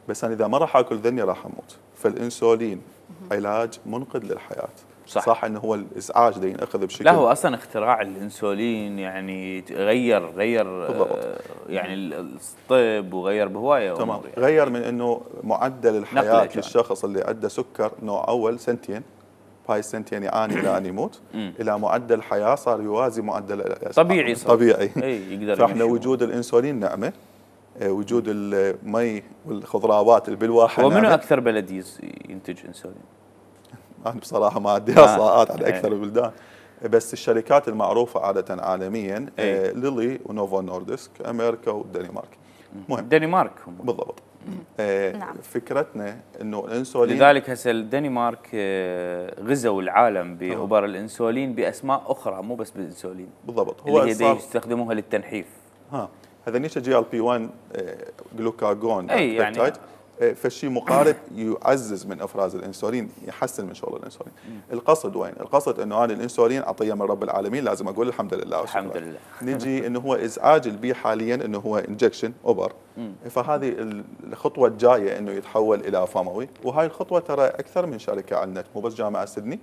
بس انا اذا ما راح اكل ذني راح اموت. فالانسولين علاج منقذ للحياه. صح. صح انه هو الازعاج ده ينأخذ بشكل لا هو اصلا اختراع الانسولين يعني غير غير بالضبط. آه، يعني الطب وغير بهوايه تمام. امور يعني. غير من انه معدل نقلة الحياه كمان. للشخص اللي عنده سكر نوع اول سنتين، بهاي السنتين يعاني الى ان يموت، مم. الى معدل حياه صار يوازي معدل طبيعي صار. طبيعي. اي يقدر فاحنا يمشي. وجود الانسولين نعمه، آه، وجود المي والخضروات اللي بالواحه هو منو نعمة. اكثر بلد يز- ينتج انسولين؟ انا بصراحه ما عندي آه. احصاءات عن إيه. اكثر البلدان، بس الشركات المعروفه عاده عالميا إيه. آه، ليلي ونوفو نوردسك، امريكا والدنمارك. مهم. الدنمارك هم. بالضبط. آه، نعم. فكرتنا انه الانسولين لذلك هسه الدنمارك آه، غزوا العالم بابر الانسولين باسماء اخرى مو بس بالانسولين، بالضبط اللي هو هي دي صار يستخدموها للتنحيف. ها هذا جي ال بي واحد جلوكاجون أي يعني- بيبتايد، آه، فالشيء مقارب يعزز من افراز الانسولين، يحسن من شغل الانسولين. القصد وين؟ القصد انه انا الانسولين عطيه من رب العالمين، لازم اقول الحمد لله وشكرا. الحمد لله. نجي انه هو ازعاج البي حاليا انه هو انجكشن اوبر، فهذه الخطوه الجايه انه يتحول الى فموي، وهاي الخطوه ترى اكثر من شركه على النت، مو بس جامعه سيدني،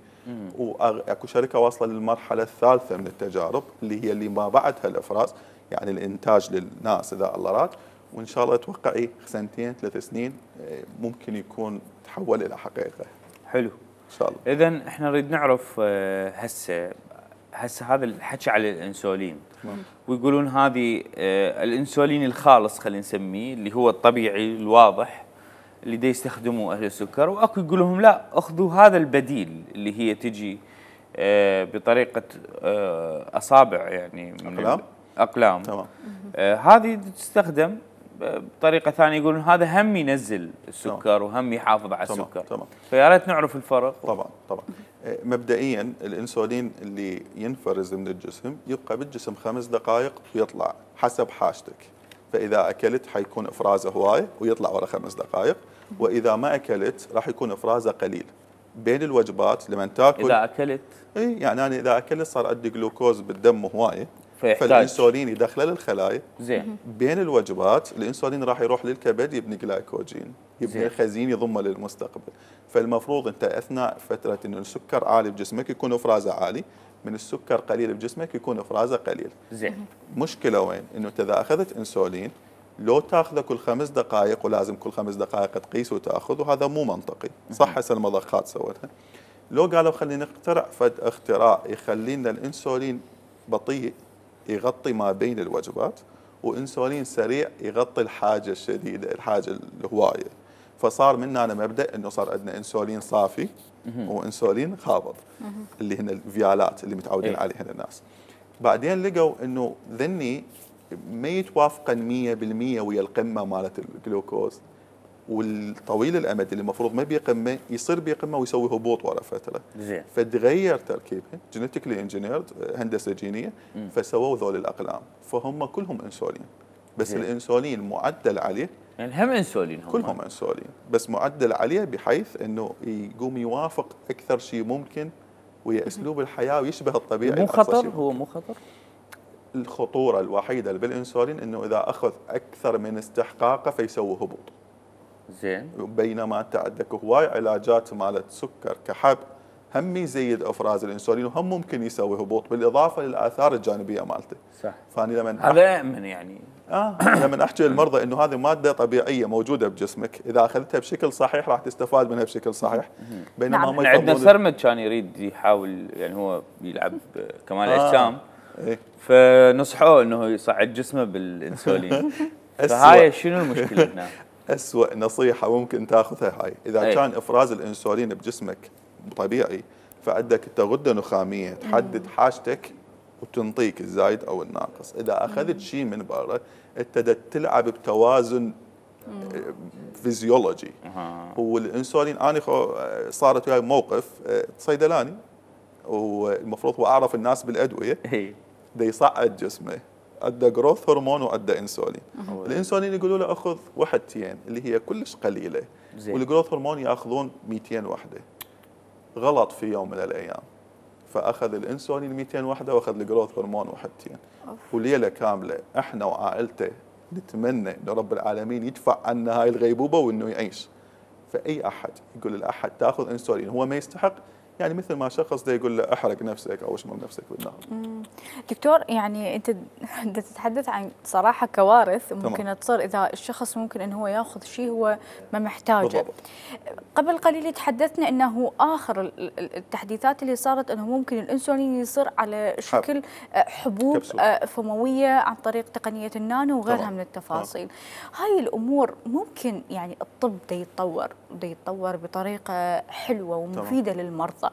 واكو شركه واصله للمرحله الثالثه من التجارب اللي هي اللي ما بعدها الافراز، يعني الانتاج للناس اذا الله راد، وان شاء الله اتوقع سنتين ثلاث سنين آه، ممكن يكون تحول الى حقيقه حلو. ان شاء الله. اذا احنا نريد نعرف آه، هسه هسه هذا الحكي على الانسولين، ويقولون هذه آه، الانسولين الخالص خلينا نسميه اللي هو الطبيعي الواضح اللي دا يستخدموه اهل السكر، واكو يقول لهم لا اخذوا هذا البديل اللي هي تجي آه، بطريقه آه، اصابع يعني من أقلام؟ اقلام. تمام. آه، هذه تستخدم بطريقه ثانيه، يقولون هذا هم ينزل السكر وهم يحافظ على تمام. السكر. تمام. فيا ريت نعرف الفرق. طبعا طبعا. آه، مبدئيا الانسولين اللي ينفرز من الجسم يبقى بالجسم خمس دقائق ويطلع حسب حاجتك، فاذا اكلت حيكون افرازه هوايه ويطلع ورا خمس دقائق، واذا ما اكلت راح يكون افرازه قليل. بين الوجبات لما تاكل اذا اكلت اي يعني انا اذا اكلت صار عندي جلوكوز بالدم هوايه، فيحتاج فالانسولين يدخله للخلايا. زين. بين الوجبات الانسولين راح يروح للكبد يبني جلايكوجين، يبني زين. الخزين يضمه للمستقبل. فالمفروض انت اثناء فتره انه السكر عالي بجسمك يكون افرازه عالي، من السكر قليل بجسمك يكون افرازه قليل. زين. مشكله وين؟ انه انت اذا اخذت انسولين لو تاخذه كل خمس دقائق ولازم كل خمس دقائق تقيس وتاخذ، وهذا مو منطقي. صح هسه المضخات سوتها، لو قالوا خلينا نخترع فد اختراع يخلي لنا الانسولين بطيء يغطي ما بين الوجبات، وانسولين سريع يغطي الحاجه الشديده الحاجه الهوايه، فصار منا أنا مبدا انه صار عندنا انسولين صافي وانسولين خابط اللي هن الفيالات اللي متعودين إيه. عليهن الناس. بعدين لقوا انه ذني ما يتوافقن مية بالمية ويا القمه مالت الجلوكوز، والطويل الامد اللي المفروض ما بيقمه يصير بيقمه ويسوي هبوط ورا فتره. زين. فتغير تركيبها جينيتيكلي انجينيرد هندسه جينيه، فسووا ذول الاقلام، فهم كلهم انسولين، بس زين. الانسولين معدل عليه، يعني هم انسولين هم كلهم انسولين بس معدل عليه بحيث انه يقوم يوافق اكثر شيء ممكن ويا اسلوب الحياه ويشبه الطبيعي. مو بأقصى خطر؟ شيء. هو مو خطر؟ الخطوره الوحيده اللي بالانسولين انه اذا اخذ اكثر من استحقاقه فيسوي هبوط، زين. بينما انت عندك هواي علاجات مالت سكر كحب هم يزيد افراز الانسولين وهم ممكن يسوي هبوط بالاضافه للاثار الجانبيه مالته. صح. فاني لما هذا امن يعني. اه لما احكي للمرضى انه هذه ماده طبيعيه موجوده بجسمك، اذا اخذتها بشكل صحيح راح تستفاد منها بشكل صحيح، بينما نعم. ما احنا عندنا يفضلون- سرمد كان يريد يحاول يعني هو يلعب كمال آه. اجسام، إيه. فنصحوه انه يصعد جسمه بالانسولين. أسوأ. فهاي شنو المشكله هنا؟ أسوأ نصيحة ممكن تاخذها هاي، إذا أي. كان إفراز الأنسولين بجسمك طبيعي فعندك أنت غدة نخامية تحدد حاجتك وتنطيك الزايد أو الناقص، إذا أخذت شيء من برا ابتدت تلعب بتوازن فيزيولوجي. آه. هو الأنسولين أنا خو- صارت وياي موقف آه، صيدلاني، والمفروض هو أعرف الناس بالأدوية، اي. دا يصعد جسمه، عنده جروث هرمون وعنده انسولين. الانسولين يقولوا له اخذ وحدتين اللي هي كلش قليله، زين. والجروث هرمون ياخذون مئتين وحده. غلط في يوم من الايام، فاخذ الانسولين مئتين وحده واخذ الجروث هرمون وحدتين، وليله كامله احنا وعائلته نتمنى ان رب العالمين يدفع عنا هاي الغيبوبه وانه يعيش. فاي احد يقول لاحد تاخذ انسولين هو ما يستحق، يعني مثل ما شخص ده يقول له احرق نفسك او اشمل نفسك بالنار. دكتور، يعني انت انت تتحدث عن صراحه كوارث ممكن تمام. تصير اذا الشخص ممكن انه هو ياخذ شيء هو ما محتاجه. بالضبط. قبل قليل تحدثنا انه اخر ال- ال- التحديثات اللي صارت انه ممكن الانسولين يصير على شكل آه، حبوب كبسول. آه، فمويه عن طريق تقنيه النانو وغيرها تمام. من التفاصيل. هاي الامور ممكن يعني الطب دا يتطور دا يتطور بطريقه حلوه ومفيده للمرضى.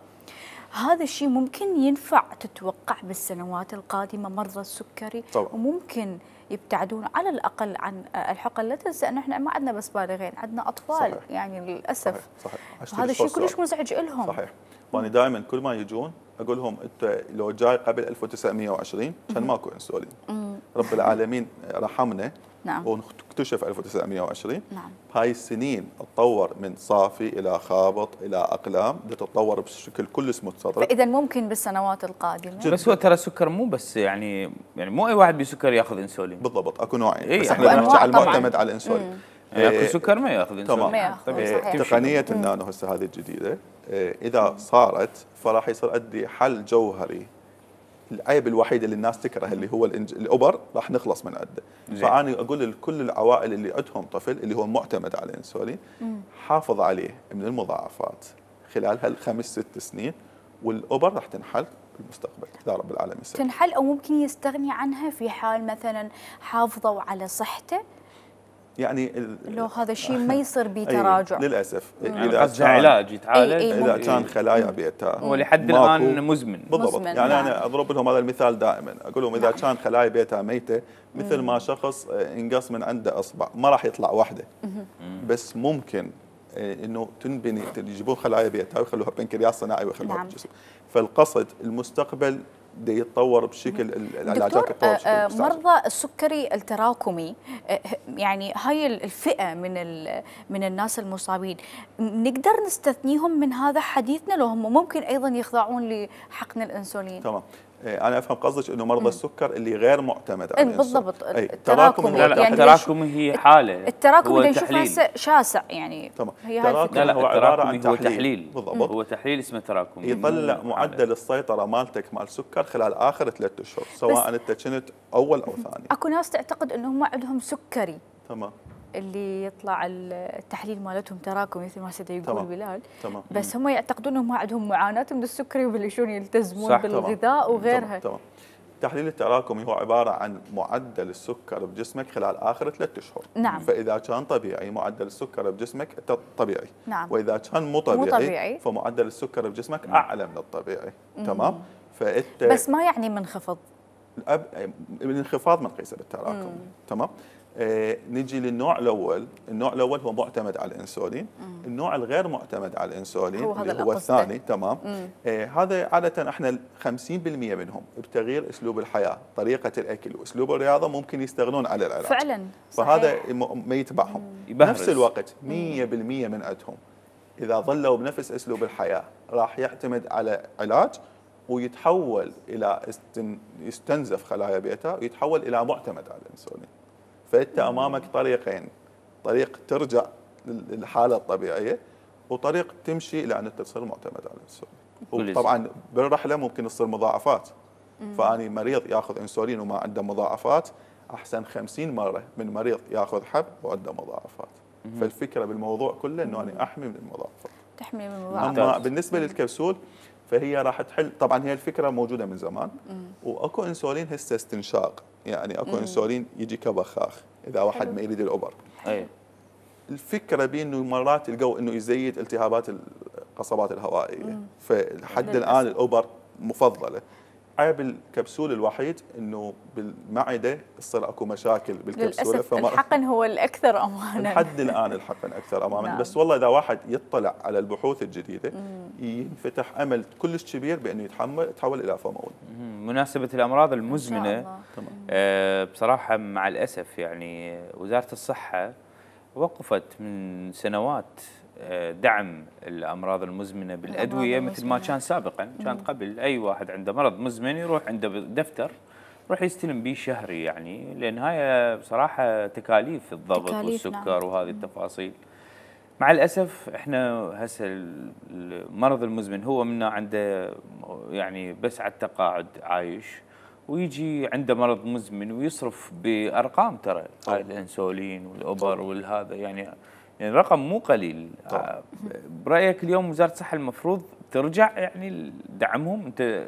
هذا الشيء ممكن ينفع تتوقع بالسنوات القادمه مرضى السكري؟ طبعا. وممكن يبتعدون على الاقل عن الحقن. لا تنسى ان احنا ما عندنا بس بالغين، عندنا اطفال. صحيح. يعني للاسف صحيح صحيح. هذا الشيء الصوت كلش مزعج لهم. صحيح. وانا دائما كل ما يجون اقول لهم انت لو جاي قبل ألف وتسعمئة وعشرين كان ماكو انسولين. رب العالمين رحمنا. نعم. واكتشف ألف وتسعمئة وعشرين. نعم. هاي السنين تطور من صافي الى خابط الى اقلام، تتطور بشكل كلش متطور. فاذا ممكن بالسنوات القادمه. بس هو ترى السكر مو بس يعني يعني مو اي واحد بسكر ياخذ انسولين. بالضبط اكو نوعين، إيه، بس أكو احنا نحكي أنواع على المعتمد طبعاً. على الانسولين. ياكل إيه، سكر ما ياخذ انسولين. تمام. ما ياخذ، إيه، صحيح. تقنيه النانو هسه هذه الجديده، إيه، اذا صارت فراح يصير عندي حل جوهري. العيب الوحيد اللي الناس تكره اللي هو الإنج... الابر راح نخلص من عنده. فانا اقول لكل العوائل اللي عندهم طفل اللي هو معتمد على الانسولين حافظ عليه من المضاعفات خلال هالخمس ست سنين، والابر راح تنحل بالمستقبل اذا رب العالمين سمح. تنحل او ممكن يستغني عنها في حال مثلا حافظوا على صحته. يعني ال... لو هذا الشيء ما يصير به تراجع. أي للاسف يعني اذا قصده كان علاج يتعالج. أي- أي اذا ممكن. كان خلايا بيتا هو لحد ماكو- الان مزمن. بالضبط. مزمن، يعني نعم. انا اضرب لهم هذا المثال دائما، اقول لهم اذا نعم. كان خلايا بيتا ميته مثل ما شخص انقص من عنده اصبع ما راح يطلع واحده، بس ممكن انه تنبني يجيبون خلايا بيتا ويخلوها بنكرياس صناعي ويخلوها نعم. بالجسم. فالقصد المستقبل دي يتطور بشكل العلاجات دكتور، تتطور بشكل آه، مستعجل. مرضى السكري التراكمي، آه، يعني هاي الفئة من ال- من الناس المصابين نقدر نستثنيهم من هذا حديثنا لو هم ممكن أيضا يخضعون لحقن الأنسولين؟ تمام. إيه، انا افهم قصدك انه مرضى السكر اللي غير معتمد على إيه، بالضبط. الانسولين. أي، التراكمي. التراكم لا لا يعني التراكم هي حاله. التراكمي هو اللي نشوفه تحليل. هسه شاسع يعني. تمام. هي هاي تراكم الفكرة. لا لا هو عباره التراكمي عن هو تحليل. تحليل. بالضبط. هو تحليل اسمه تراكمي. يطلع مو معدل حالة. السيطره مالتك مال السكر خلال اخر ثلاث اشهر، سواء انت كنت اول او ثاني. اكو ناس تعتقد انهم ما عندهم سكري، تمام. اللي يطلع التحليل مالتهم تراكمي مثل ما سيدي يقول تمام. بلال. تمام. بس هم يعتقدون انهم ما عندهم معاناه من السكري ويبلشون يلتزمون صح. بالغذاء تمام. وغيرها. تمام. تمام. التحليل التراكمي هو عباره عن معدل السكر بجسمك خلال اخر ثلاث اشهر. نعم. فاذا كان طبيعي معدل السكر بجسمك أنت طبيعي. نعم. واذا كان مو طبيعي, مو طبيعي. فمعدل السكر بجسمك اعلى من الطبيعي. تمام. فانت بس ما يعني منخفض. الأب- الانخفاض ما نقيسه بالتراكم. تمام. آه نجي للنوع الاول، النوع الاول هو معتمد على الانسولين. مم. النوع الغير معتمد على الانسولين هو هذا اللي هو القصد. الثاني. تمام. آه هذا عاده احنا خمسين بالمئة منهم بتغيير اسلوب الحياه، طريقه الاكل واسلوب الرياضه ممكن يستغنون عن العلاج. فعلا. فهذا صحيح. م- ما يتبعهم. يبهرس. نفس الوقت مئة بالمئة من عندهم اذا ظلوا بنفس اسلوب الحياه راح يعتمد على علاج ويتحول الى استن يستنزف خلايا بيتا ويتحول الى معتمد على الانسولين. فانت امامك طريقين، طريق ترجع للحاله الطبيعيه وطريق تمشي الى ان انت تصير معتمد على الانسولين. وطبعا بالرحله ممكن تصير مضاعفات. فاني مريض ياخذ انسولين وما عنده مضاعفات احسن خمسين مره من مريض ياخذ حب وعنده مضاعفات. فالفكره بالموضوع كله انه انا احمي من المضاعفات. تحمي من اما المضاعفات. بالنسبه للكبسول فهي راح تحل، طبعا هي الفكره موجوده من زمان. واكو انسولين هسه استنشاق، يعني اكو انسولين يجي كبخاخ اذا واحد ما يريد الابر. اي الفكره بانه مرات يلقوا انه يزيد التهابات القصبات الهوائيه، فلحد الان الابر مفضله. عيب الكبسول الوحيد انه بالمعده تصير اكو مشاكل بالكبسوله. للاسف الحقن هو الاكثر امانا. لحد الان الحقن اكثر امانا. نعم. بس والله اذا واحد يطلع على البحوث الجديده ينفتح امل كلش كبير بانه يتحمل يتحول الى فمول. مناسبة الأمراض المزمنة. الله. آه بصراحة مع الأسف يعني وزارة الصحة وقفت من سنوات دعم الامراض المزمنه بالادويه مثل ما كان سابقا. كانت قبل اي واحد عنده مرض مزمن يروح عنده دفتر يروح يستلم به شهري، يعني لان هاي بصراحه تكاليف الضغط تكاليف والسكر نعم. وهذه التفاصيل. مع الاسف احنا هسه المرض المزمن هو منا عنده يعني بس على التقاعد عايش، ويجي عنده مرض مزمن ويصرف بارقام ترى هاي الانسولين والابر والهذا، يعني يعني رقم مو قليل. طبعا. برايك اليوم وزاره الصحه المفروض ترجع يعني دعمهم؟ انت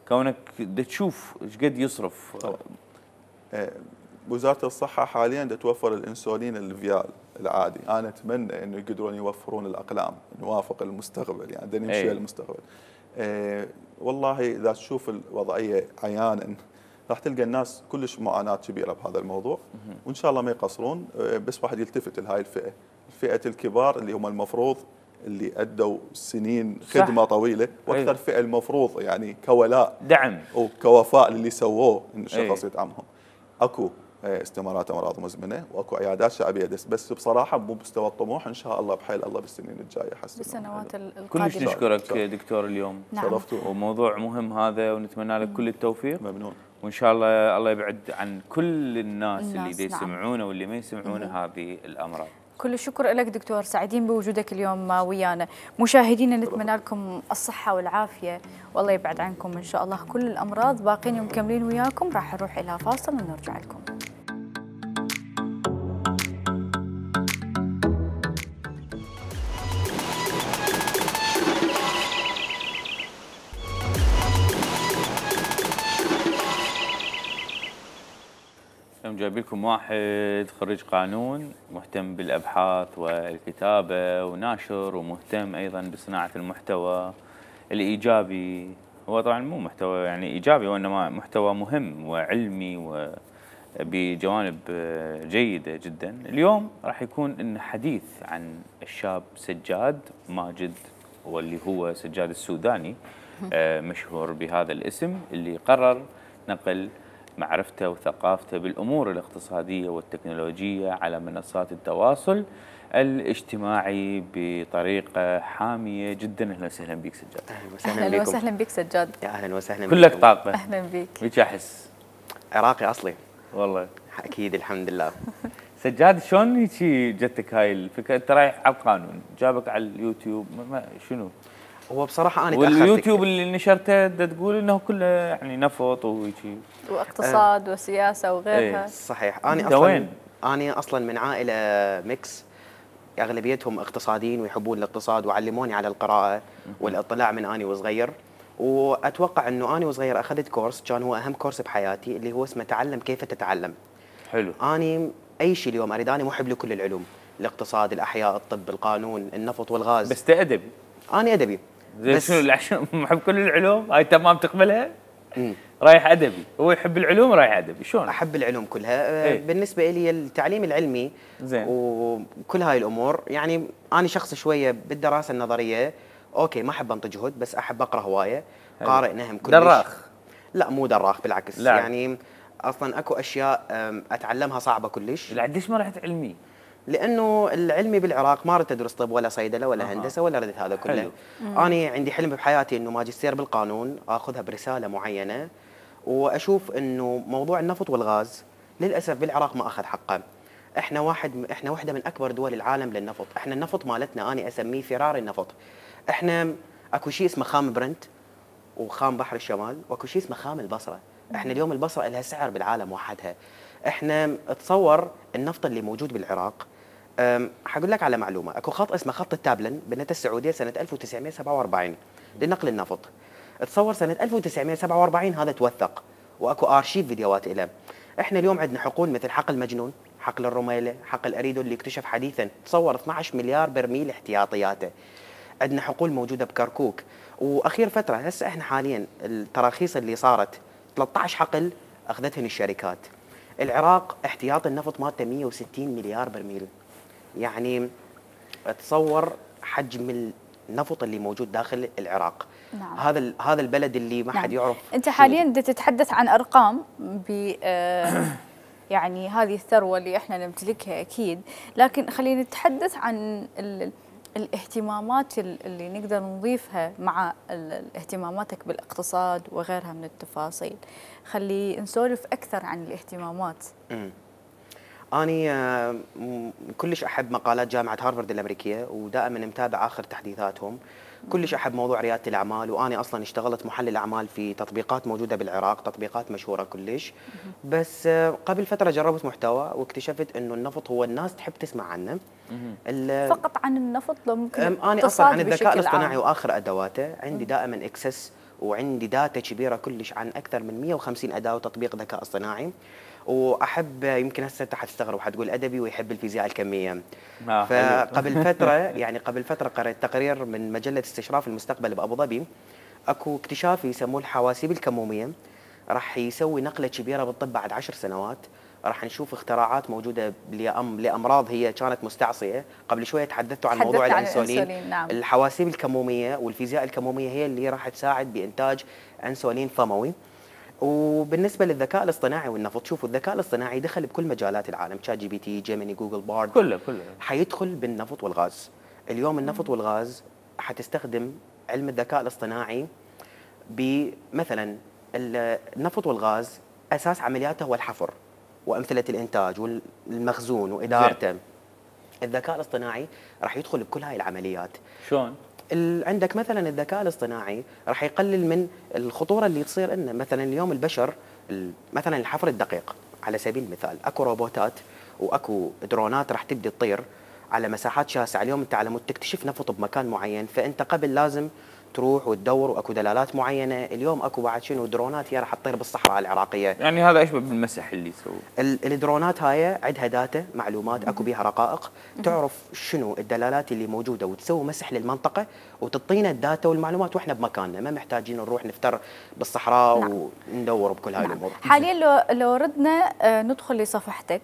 كونك تشوف ايش قد يصرف. طبعا. وزاره الصحه حاليا توفر الانسولين الفيال العادي، انا اتمنى انه يقدرون يوفرون الاقلام نوافق المستقبل، يعني بدنا نمشي المستقبل. أه والله اذا تشوف الوضعيه عيانا راح تلقى الناس كلش معاناه كبيره بهذا الموضوع، وان شاء الله ما يقصرون. بس واحد يلتفت لهاي الفئه، فئه الكبار اللي هم المفروض اللي ادوا سنين خدمه صح. طويله، واكثر فئه المفروض يعني كولاء دعم وكوفاء للي سووه ان الشخص يدعمهم. اكو استمارات امراض مزمنه واكو عيادات شعبيه، بس بس بصراحه مو بمستوى الطموح، ان شاء الله بحيل الله بالسنين الجايه حسن بالسنوات القادمه. كلش نشكرك دكتور اليوم. نعم. شرفتوا. وموضوع مهم هذا، ونتمنى لك كل التوفيق. ممنون. وان شاء الله الله يبعد عن كل الناس, الناس اللي دي نعم. يسمعونه واللي ما يسمعونه هذه الامراض. كل الشكر لك دكتور، سعيدين بوجودك اليوم ويانا. مشاهدينا نتمنى لكم الصحة والعافية، والله يبعد عنكم إن شاء الله كل الأمراض. باقين ومكملين وياكم، راح نروح إلى فاصل ونرجع لكم. اليوم جايب لكم واحد خريج قانون، مهتم بالابحاث والكتابه وناشر، ومهتم ايضا بصناعه المحتوى الايجابي. هو طبعا مو محتوى يعني ايجابي، وانما محتوى مهم وعلمي وبجوانب جيده جدا. اليوم راح يكون لنا حديث عن الشاب سجاد ماجد، واللي هو سجاد السوداني، مشهور بهذا الاسم، اللي قرر نقل معرفته وثقافته بالأمور الاقتصادية والتكنولوجية على منصات التواصل الاجتماعي بطريقة حامية جدا. أهلا وسهلا بك سجاد. أهلا وسهلا أهلا بكم. وسهلا بك سجاد. يا أهلا وسهلا كلك بكم. طاقة. أهلا بك. وش أحس؟ عراقي أصلي والله. أكيد الحمد لله. سجاد شلون هيجي جتك هاي الفكرة؟ أنت رايح على القانون، جابك على اليوتيوب، ما شنو؟ هو بصراحة أنا واليوتيوب اللي نشرته تقول إنه كله يعني نفط وهيجي واقتصاد أه وسياسة وغيرها. ايه صحيح. أنا أصلا وين؟ أنا أصلا من عائلة ميكس، أغلبيتهم اقتصاديين ويحبون الاقتصاد، وعلموني على القراءة والاطلاع من أنا وصغير. وأتوقع إنه أنا وصغير أخذت كورس كان هو أهم كورس بحياتي، اللي هو اسمه تعلم كيف تتعلم. حلو. أنا أي شيء اليوم أريد، أنا محب لكل العلوم، الاقتصاد، الأحياء، الطب، القانون، النفط والغاز. بس أدبي. أنا أدبي. بس شنو عشان محب كل العلوم هاي تمام تقبلها؟ امم رايح ادبي، هو يحب العلوم رايح ادبي، شلون؟ احب العلوم كلها. ايه؟ بالنسبه لي التعليم العلمي زين وكل هاي الامور، يعني انا شخص شويه بالدراسه النظريه اوكي ما احب انطي جهد، بس احب اقرا هوايه، قارئ نهم كلش. دراخ؟ لا مو دراخ، بالعكس. لا. يعني اصلا اكو اشياء اتعلمها صعبه كلش. لا ليش ما رحت علمي؟ لانه العلمي بالعراق ما ردت ادرس طب ولا صيدله ولا آه. هندسه ولا ردت هذا كله. حلو. انا عندي حلم بحياتي انه ماجستير بالقانون، اخذها برساله معينه، واشوف انه موضوع النفط والغاز للاسف بالعراق ما اخذ حقه. احنا واحد احنا واحده من اكبر دول العالم للنفط، احنا النفط مالتنا انا اسميه فرار النفط. احنا اكو شيء اسمه خام برنت وخام بحر الشمال، واكو شيء اسمه خام البصره. احنا اليوم البصره لها سعر بالعالم وحدها. احنا تصور النفط اللي موجود بالعراق، حقول لك على معلومه، اكو خط اسمه خط التابلن بنته السعوديه سنه ألف وتسعمئة وسبعة وأربعين لنقل النفط. تصور سنه ألف وتسعمئة وسبعة وأربعين هذا توثق، واكو ارشيف فيديوهات له. احنا اليوم عندنا حقول مثل حقل مجنون، حقل الرميله، حقل اريدو اللي اكتشف حديثا، تصور اثنعش مليار برميل احتياطياته. عندنا حقول موجوده بكركوك، واخير فتره هسه احنا حاليا التراخيص اللي صارت ثلاثة عشر حقل اخذتهن الشركات. العراق احتياط النفط مالته مئة وستين مليار برميل. يعني تصور حجم النفط اللي موجود داخل العراق. نعم. هذا هذا البلد اللي ما حد نعم. يعرف. انت حاليا تتحدث عن ارقام ب يعني هذه الثروه اللي احنا نمتلكها اكيد، لكن خلينا نتحدث عن الاهتمامات اللي نقدر نضيفها مع اهتماماتك بالاقتصاد وغيرها من التفاصيل، خلي نسولف أكثر عن الاهتمامات. امم أني آه، كلش أحب مقالات جامعة هارفارد الأمريكية، ودائما متابع آخر تحديثاتهم. كلش أحب موضوع ريادة الأعمال، وأنا أصلا اشتغلت محلل أعمال في تطبيقات موجودة بالعراق، تطبيقات مشهورة كلش. بس آه، قبل فترة جربت محتوى واكتشفت إنه النفط هو الناس تحب تسمع عنه. فقط عن النفط لو ممكن أنا أصلا عن الذكاء الاصطناعي وآخر أدواته، عندي دائما إكسس وعندي داتا كبيرة كلش عن أكثر من مئة وخمسين أداة وتطبيق ذكاء اصطناعي. واحب، يمكن هسه انت حتستغرب وحتقول ادبي ويحب الفيزياء الكميه. آه فقبل فتره يعني قبل فتره قرأت تقرير من مجله استشراف المستقبل بابو ظبي، اكو اكتشاف يسموه الحواسيب الكموميه، راح يسوي نقله كبيره بالطب بعد عشر سنوات. راح نشوف اختراعات موجوده لامراض هي كانت مستعصيه. قبل شويه تحدثتوا عن موضوع الانسولين. نعم. الحواسيب الكموميه والفيزياء الكموميه هي اللي راح تساعد بانتاج انسولين فموي. وبالنسبه للذكاء الاصطناعي والنفط، شوفوا الذكاء الاصطناعي دخل بكل مجالات العالم، تشات جي بي تي، جيميني، جوجل بارد، كله كله حيدخل بالنفط والغاز. اليوم النفط والغاز حتستخدم علم الذكاء الاصطناعي بمثلا النفط والغاز اساس عملياته هو الحفر وامثله الانتاج والمخزون وادارته. الذكاء الاصطناعي راح يدخل بكل هاي العمليات. شلون؟ عندك مثلا الذكاء الاصطناعي راح يقلل من الخطوره اللي تصير لنا. مثلا اليوم البشر مثلا الحفر الدقيق على سبيل المثال، اكو روبوتات واكو درونات راح تبدي تطير على مساحات شاسعه. اليوم انت على مود تكتشف نفط بمكان معين، فانت قبل لازم تروح وتدور واكو دلالات معينه. اليوم اكو بعد شنو درونات هي راح تطير بالصحراء العراقيه. يعني هذا يشبه بالمسح اللي يسووه. الدرونات هاي عندها داتا معلومات، اكو بيها رقائق تعرف شنو الدلالات اللي موجوده وتسوي مسح للمنطقه وتعطينا الداتا والمعلومات واحنا بمكاننا، ما محتاجين نروح نفتر بالصحراء. نعم. وندور بكل هاي. نعم. الامور. حاليا لو لو ردنا ندخل لصفحتك،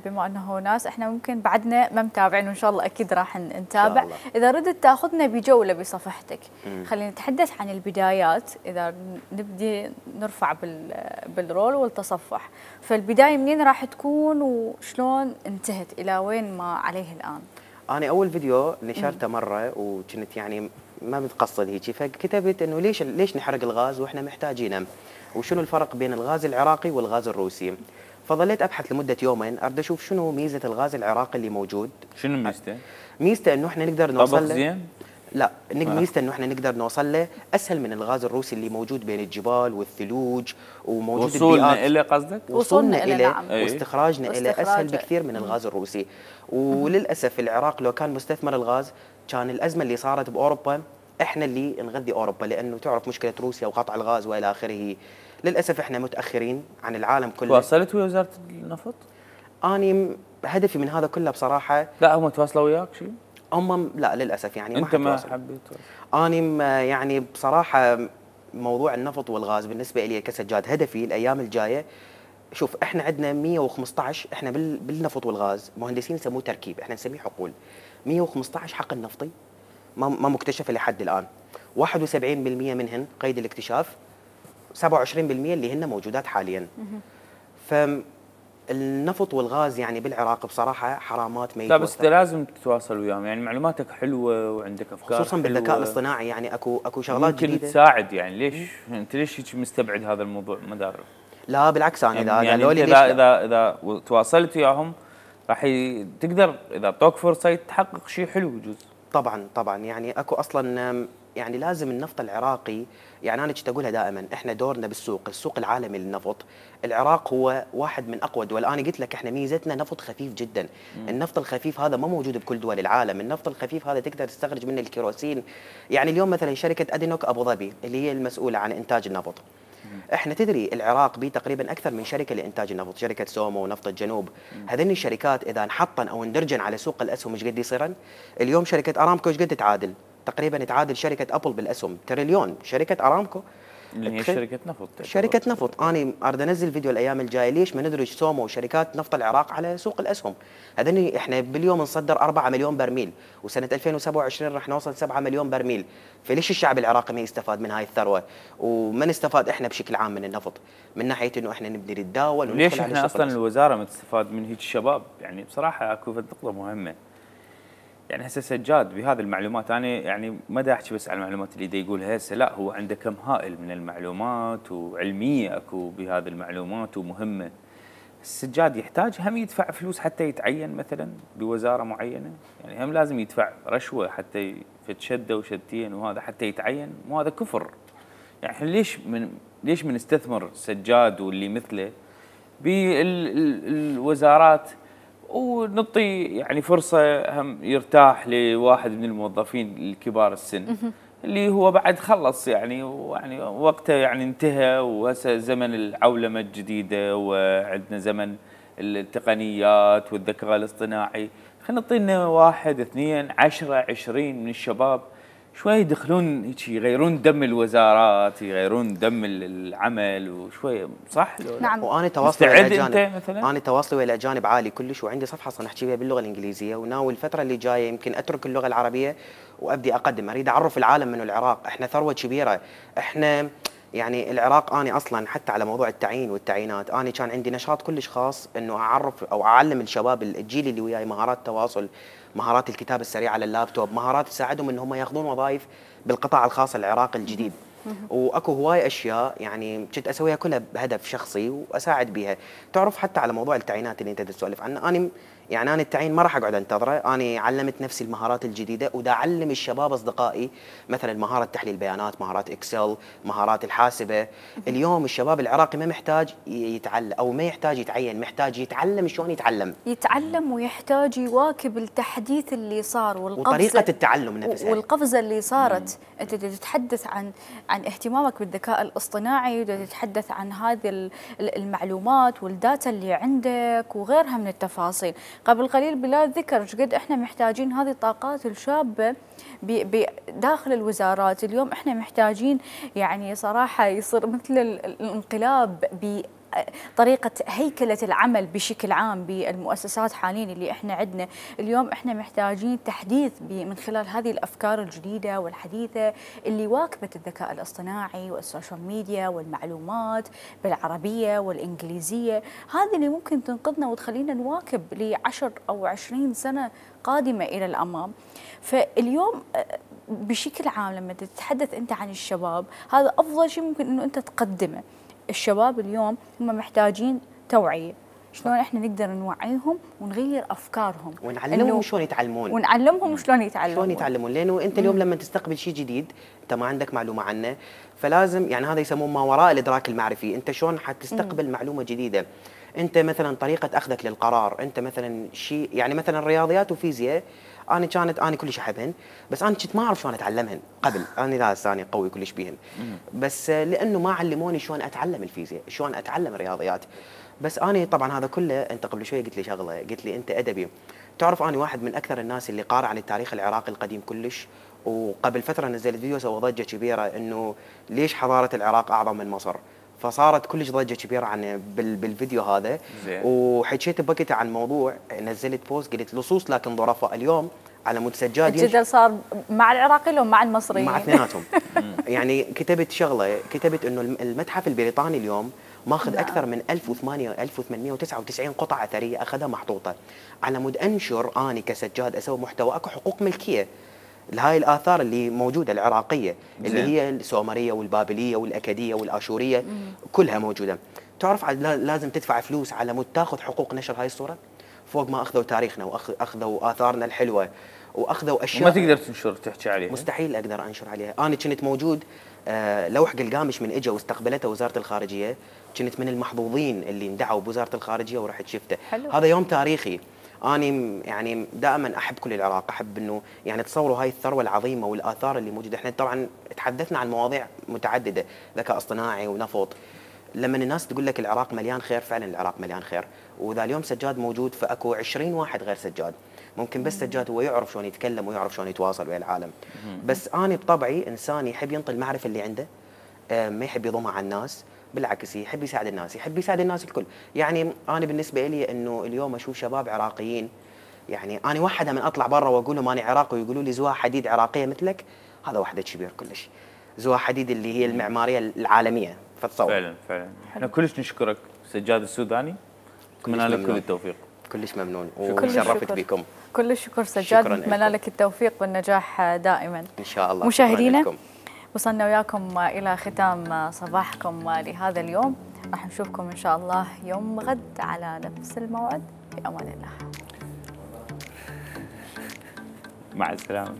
بما انه ناس احنا ممكن بعدنا ما متابعين وان شاء الله اكيد راح نتابع، اذا ردت تاخذنا بجوله بصفحتك. مم. خلينا نتحدث عن البدايات، اذا نبدي نرفع بالرول والتصفح، فالبدايه منين راح تكون وشلون انتهت الى وين ما عليه الان؟ انا اول فيديو نشرته مره وكنت يعني ما متقصد هيك، فكتبت انه ليش ليش نحرق الغاز واحنا محتاجينه، وشنو الفرق بين الغاز العراقي والغاز الروسي. فظليت ابحث لمده يومين اريد اشوف شنو ميزه الغاز العراقي اللي موجود. شنو ميزته؟ ميزته انه احنا نقدر نوصل له. زين؟ لا، ميزته انه احنا نقدر نوصل له اسهل من الغاز الروسي اللي موجود بين الجبال والثلوج وموجود بالبيئات. وصولنا الى قصدك؟ وصولنا الى نعم. واستخراجنا الى اسهل بكثير من الغاز الروسي. وللاسف العراق لو كان مستثمر الغاز كان الازمه اللي صارت باوروبا احنا اللي نغذي اوروبا، لانه تعرف مشكله روسيا وقطع الغاز والى اخره. للاسف احنا متاخرين عن العالم كله. تواصلت ويا وزاره النفط؟ اني هدفي من هذا كله بصراحه. لا هم تواصلوا وياك شيء؟ هم لا للاسف يعني انت ما حبيت؟ اني يعني بصراحه موضوع النفط والغاز بالنسبه لي كسجاد هدفي الايام الجايه. شوف احنا عندنا مئة وخمسة عشر احنا بالنفط والغاز مهندسين يسموه تركيب، احنا نسميه حقول. مئة وخمسة عشر حقل نفطي ما ما مكتشفه لحد الان، واحد وسبعين بالمئة منهن قيد الاكتشاف، سبعة وعشرين بالمئة اللي هن موجودات حاليا. فالنفط والغاز يعني بالعراق بصراحه حرامات ما لا بس انت لازم تتواصل وياهم، يعني معلوماتك حلوه وعندك افكار خصوصا بالذكاء الاصطناعي. يعني اكو اكو شغلات ممكن جديده تساعد. يعني ليش انت ليش هيك مستبعد هذا الموضوع؟ ما داري. لا بالعكس انا يعني اذا يعني قالوا لي اذا اذا اذا تواصلت وياهم راح تقدر اذا اعطوك فرصه تحقق شيء حلو بجوز. طبعا طبعا يعني اكو اصلا يعني لازم النفط العراقي، يعني انا كنت اقولها دائما احنا دورنا بالسوق، السوق العالمي للنفط. العراق هو واحد من اقوى الدول. انا قلت لك احنا ميزتنا نفط خفيف جدا. مم. النفط الخفيف هذا ما موجود بكل دول العالم. النفط الخفيف هذا تقدر تستخرج منه الكيروسين. يعني اليوم مثلا شركه ادينوك ابو ظبي اللي هي المسؤوله عن انتاج النفط، احنا تدري العراق بيه تقريبا اكثر من شركه لانتاج النفط، شركه سومو ونفط الجنوب. هذين الشركات اذا انحطن او اندرجن على سوق الاسهم ايش قد يصيرن؟ اليوم شركه ارامكو ايش قد تعادل؟ تقريبا تعادل شركه ابل بالاسهم تريليون. شركه ارامكو اللي هي شركه نفط. شركه نفط. انا اريد انزل فيديو الايام الجايه ليش ما ندرج سومو وشركات نفط العراق على سوق الاسهم. هذين احنا باليوم نصدر أربعة مليون برميل، وسنه ألفين وسبعة وعشرين راح نوصل سبعة مليون برميل. فليش الشعب العراقي ما يستفاد من هاي الثروه وما نستفاد احنا بشكل عام من النفط من ناحيه انه احنا نبدي نتداول. ليش احنا اصلا الوزاره ما تستفاد من هيك الشباب؟ يعني بصراحه اكو نقطه مهمه. يعني هسه سجاد بهذه المعلومات، انا يعني ما دا احكي بس على المعلومات اللي دا يقولها هسه، لا هو عنده كم هائل من المعلومات وعلميه اكو بهذه المعلومات ومهمه. السجاد يحتاج هم يدفع فلوس حتى يتعين مثلا بوزاره معينه؟ يعني هم لازم يدفع رشوه حتى فد شده وشدتين وهذا حتى يتعين؟ مو هذا كفر؟ يعني احنا ليش من ليش بنستثمر سجاد واللي مثله بالوزارات ونعطي يعني فرصه هم يرتاح لواحد من الموظفين الكبار السن اللي هو بعد خلص يعني ويعني وقته يعني انتهى، وهسه زمن العولمه الجديده وعندنا زمن التقنيات والذكاء الاصطناعي. خلينا نعطينا واحد اثنين عشرة عشرين من الشباب شوي يدخلون هيك يغيرون دم الوزارات، يغيرون دم العمل وشوي، صح؟ نعم. وانا تواصلي ويا الاجانب الاجانب مثلا؟ انا تواصلي ويا الاجانب عالي كلش، وعندي صفحه اصلا احكي بها باللغه الانجليزيه، وناوي الفتره اللي جايه يمكن اترك اللغه العربيه وابدي اقدم، اريد اعرف العالم من العراق، احنا ثروه كبيره، احنا يعني العراق. انا اصلا حتى على موضوع التعيين والتعيينات، انا كان عندي نشاط كلش خاص انه اعرف او اعلم الشباب الجيل اللي وياي مهارات التواصل، مهارات الكتابه السريعه على اللابتوب، مهارات تساعدهم ان هم ياخذون وظائف بالقطاع الخاص العراقي الجديد. واكو هواي اشياء يعني كنت اسويها كلها بهدف شخصي واساعد بها. تعرف حتى على موضوع التعيينات اللي انت تسولف عنه، انا يعني انا التعيين ما راح اقعد انتظره، انا علمت نفسي المهارات الجديده ودا اعلم الشباب اصدقائي مثلا مهاره تحليل بيانات، مهارات اكسل، مهارات الحاسبه. اليوم الشباب العراقي ما محتاج يتعلم او ما يحتاج يتعين، محتاج يتعلم شلون يتعلم يتعلم ويحتاج يواكب التحديث اللي صار والقفزه وطريقه التعلم نفسها والقفزه اللي صارت. مم. انت تتحدث عن عن اهتمامك بالذكاء الاصطناعي، وتتحدث عن هذه المعلومات والداتا اللي عندك وغيرها من التفاصيل. قبل قليل بلال ذكر قد احنا محتاجين هذه الطاقات الشابه بداخل الوزارات. اليوم احنا محتاجين يعني صراحه يصير مثل الانقلاب ب طريقة هيكلة العمل بشكل عام بالمؤسسات حاليا اللي احنا عندنا. اليوم احنا محتاجين تحديث من خلال هذه الافكار الجديدة والحديثة اللي واكبت الذكاء الاصطناعي والسوشيال ميديا والمعلومات بالعربية والانجليزية، هذه اللي ممكن تنقذنا وتخلينا نواكب لعشر او عشرين سنة قادمة الى الامام. فاليوم بشكل عام لما تتحدث انت عن الشباب، هذا افضل شيء ممكن انه انت تقدمه. الشباب اليوم هم محتاجين توعية، شلون احنا نقدر نوعيهم ونغير افكارهم ونعلمهم شلون يتعلمون ونعلمهم شلون يتعلمون شلون يتعلمون لانه انت اليوم لما تستقبل شيء جديد انت ما عندك معلومه عنه، فلازم يعني هذا يسموه ما وراء الادراك المعرفي. انت شلون حتستقبل مم. معلومه جديده؟ انت مثلا طريقه اخذك للقرار، انت مثلا شيء يعني مثلا رياضيات وفيزياء، انا كانت انا كلش احبهن، بس انا كنت ما اعرف شلون اتعلمهن قبل، انا لا ثاني قوي كلش بيهن، بس لانه ما علموني شلون اتعلم الفيزياء، شلون اتعلم الرياضيات. بس انا طبعا هذا كله، انت قبل شوي قلت لي شغله، قلت لي انت ادبي. تعرف انا واحد من اكثر الناس اللي قارئ عن التاريخ العراقي القديم كلش، وقبل فتره نزلت فيديو سوى ضجه كبيره انه ليش حضاره العراق اعظم من مصر، فصارت كلش ضجه كبيره عن بالفيديو هذا. زين. وحكيت بوقتها عن موضوع، نزلت بوست قلت لصوص لكن ظرفاء. اليوم على مود سجاد الجدل صار مع العراقيين ولا مع المصريين؟ مع اثنيناتهم. يعني كتبت شغله، كتبت انه المتحف البريطاني اليوم ماخذ نعم. اكثر من ألف وثمانمئة وتسعة وتسعين قطعه اثريه اخذها محطوطه، على مود انشر اني كسجاد اسوي محتوى اكو حقوق ملكيه لهاي الاثار اللي موجوده العراقيه اللي زين. هي السومريه والبابليه والاكديه والاشوريه مم. كلها موجوده. تعرف لازم تدفع فلوس على مود تاخذ حقوق نشر هاي الصوره، فوق ما اخذوا تاريخنا واخذوا اثارنا الحلوه واخذوا اشياء ما تقدر تنشر تحكي عليها. مستحيل اقدر انشر عليها. انا كنت موجود آه لوح قلقامش من اجى واستقبلته وزاره الخارجيه، كنت من المحظوظين اللي اندعوا بوزاره الخارجيه ورحت شفته. حلو. هذا يوم تاريخي. انا يعني دائما احب كل العراق، احب انه يعني تصوروا هاي الثروه العظيمه والاثار اللي موجوده. احنا طبعا تحدثنا عن مواضيع متعدده، ذكاء اصطناعي ونفط. لما الناس تقول لك العراق مليان خير، فعلا العراق مليان خير، واذا اليوم سجاد موجود فاكو عشرين واحد غير سجاد. ممكن بس سجاد هو يعرف شلون يتكلم ويعرف شلون يتواصل ويا العالم. بس انا بطبعي انسان يحب ينطي المعرفه اللي عنده، ما يحب يضمها على الناس، بالعكس يحب يساعد الناس، يحب يساعد الناس الكل. يعني انا بالنسبه لي انه اليوم اشوف شباب عراقيين، يعني انا وحده من اطلع برا واقول لهم انا عراقي ويقولوا لي زواج حديد عراقيه مثلك، هذا وحده كبير كلش. زواج حديد اللي هي المعماريه العالميه، فتصور. فعلا فعلا. احنا كلش نشكرك سجاد السوداني، اتمنى لك كل التوفيق. كلش ممنون وشرفت بكم. كل الشكر سجاد، شكراً نتمنى لكم. لك التوفيق والنجاح دائما. ان شاء الله. مشاهدينا شكراً لكم. وصلنا وياكم إلى ختام صباحكم لهذا اليوم، راح نشوفكم إن شاء الله يوم غد على نفس الموعد. في أمان الله. مع السلامة.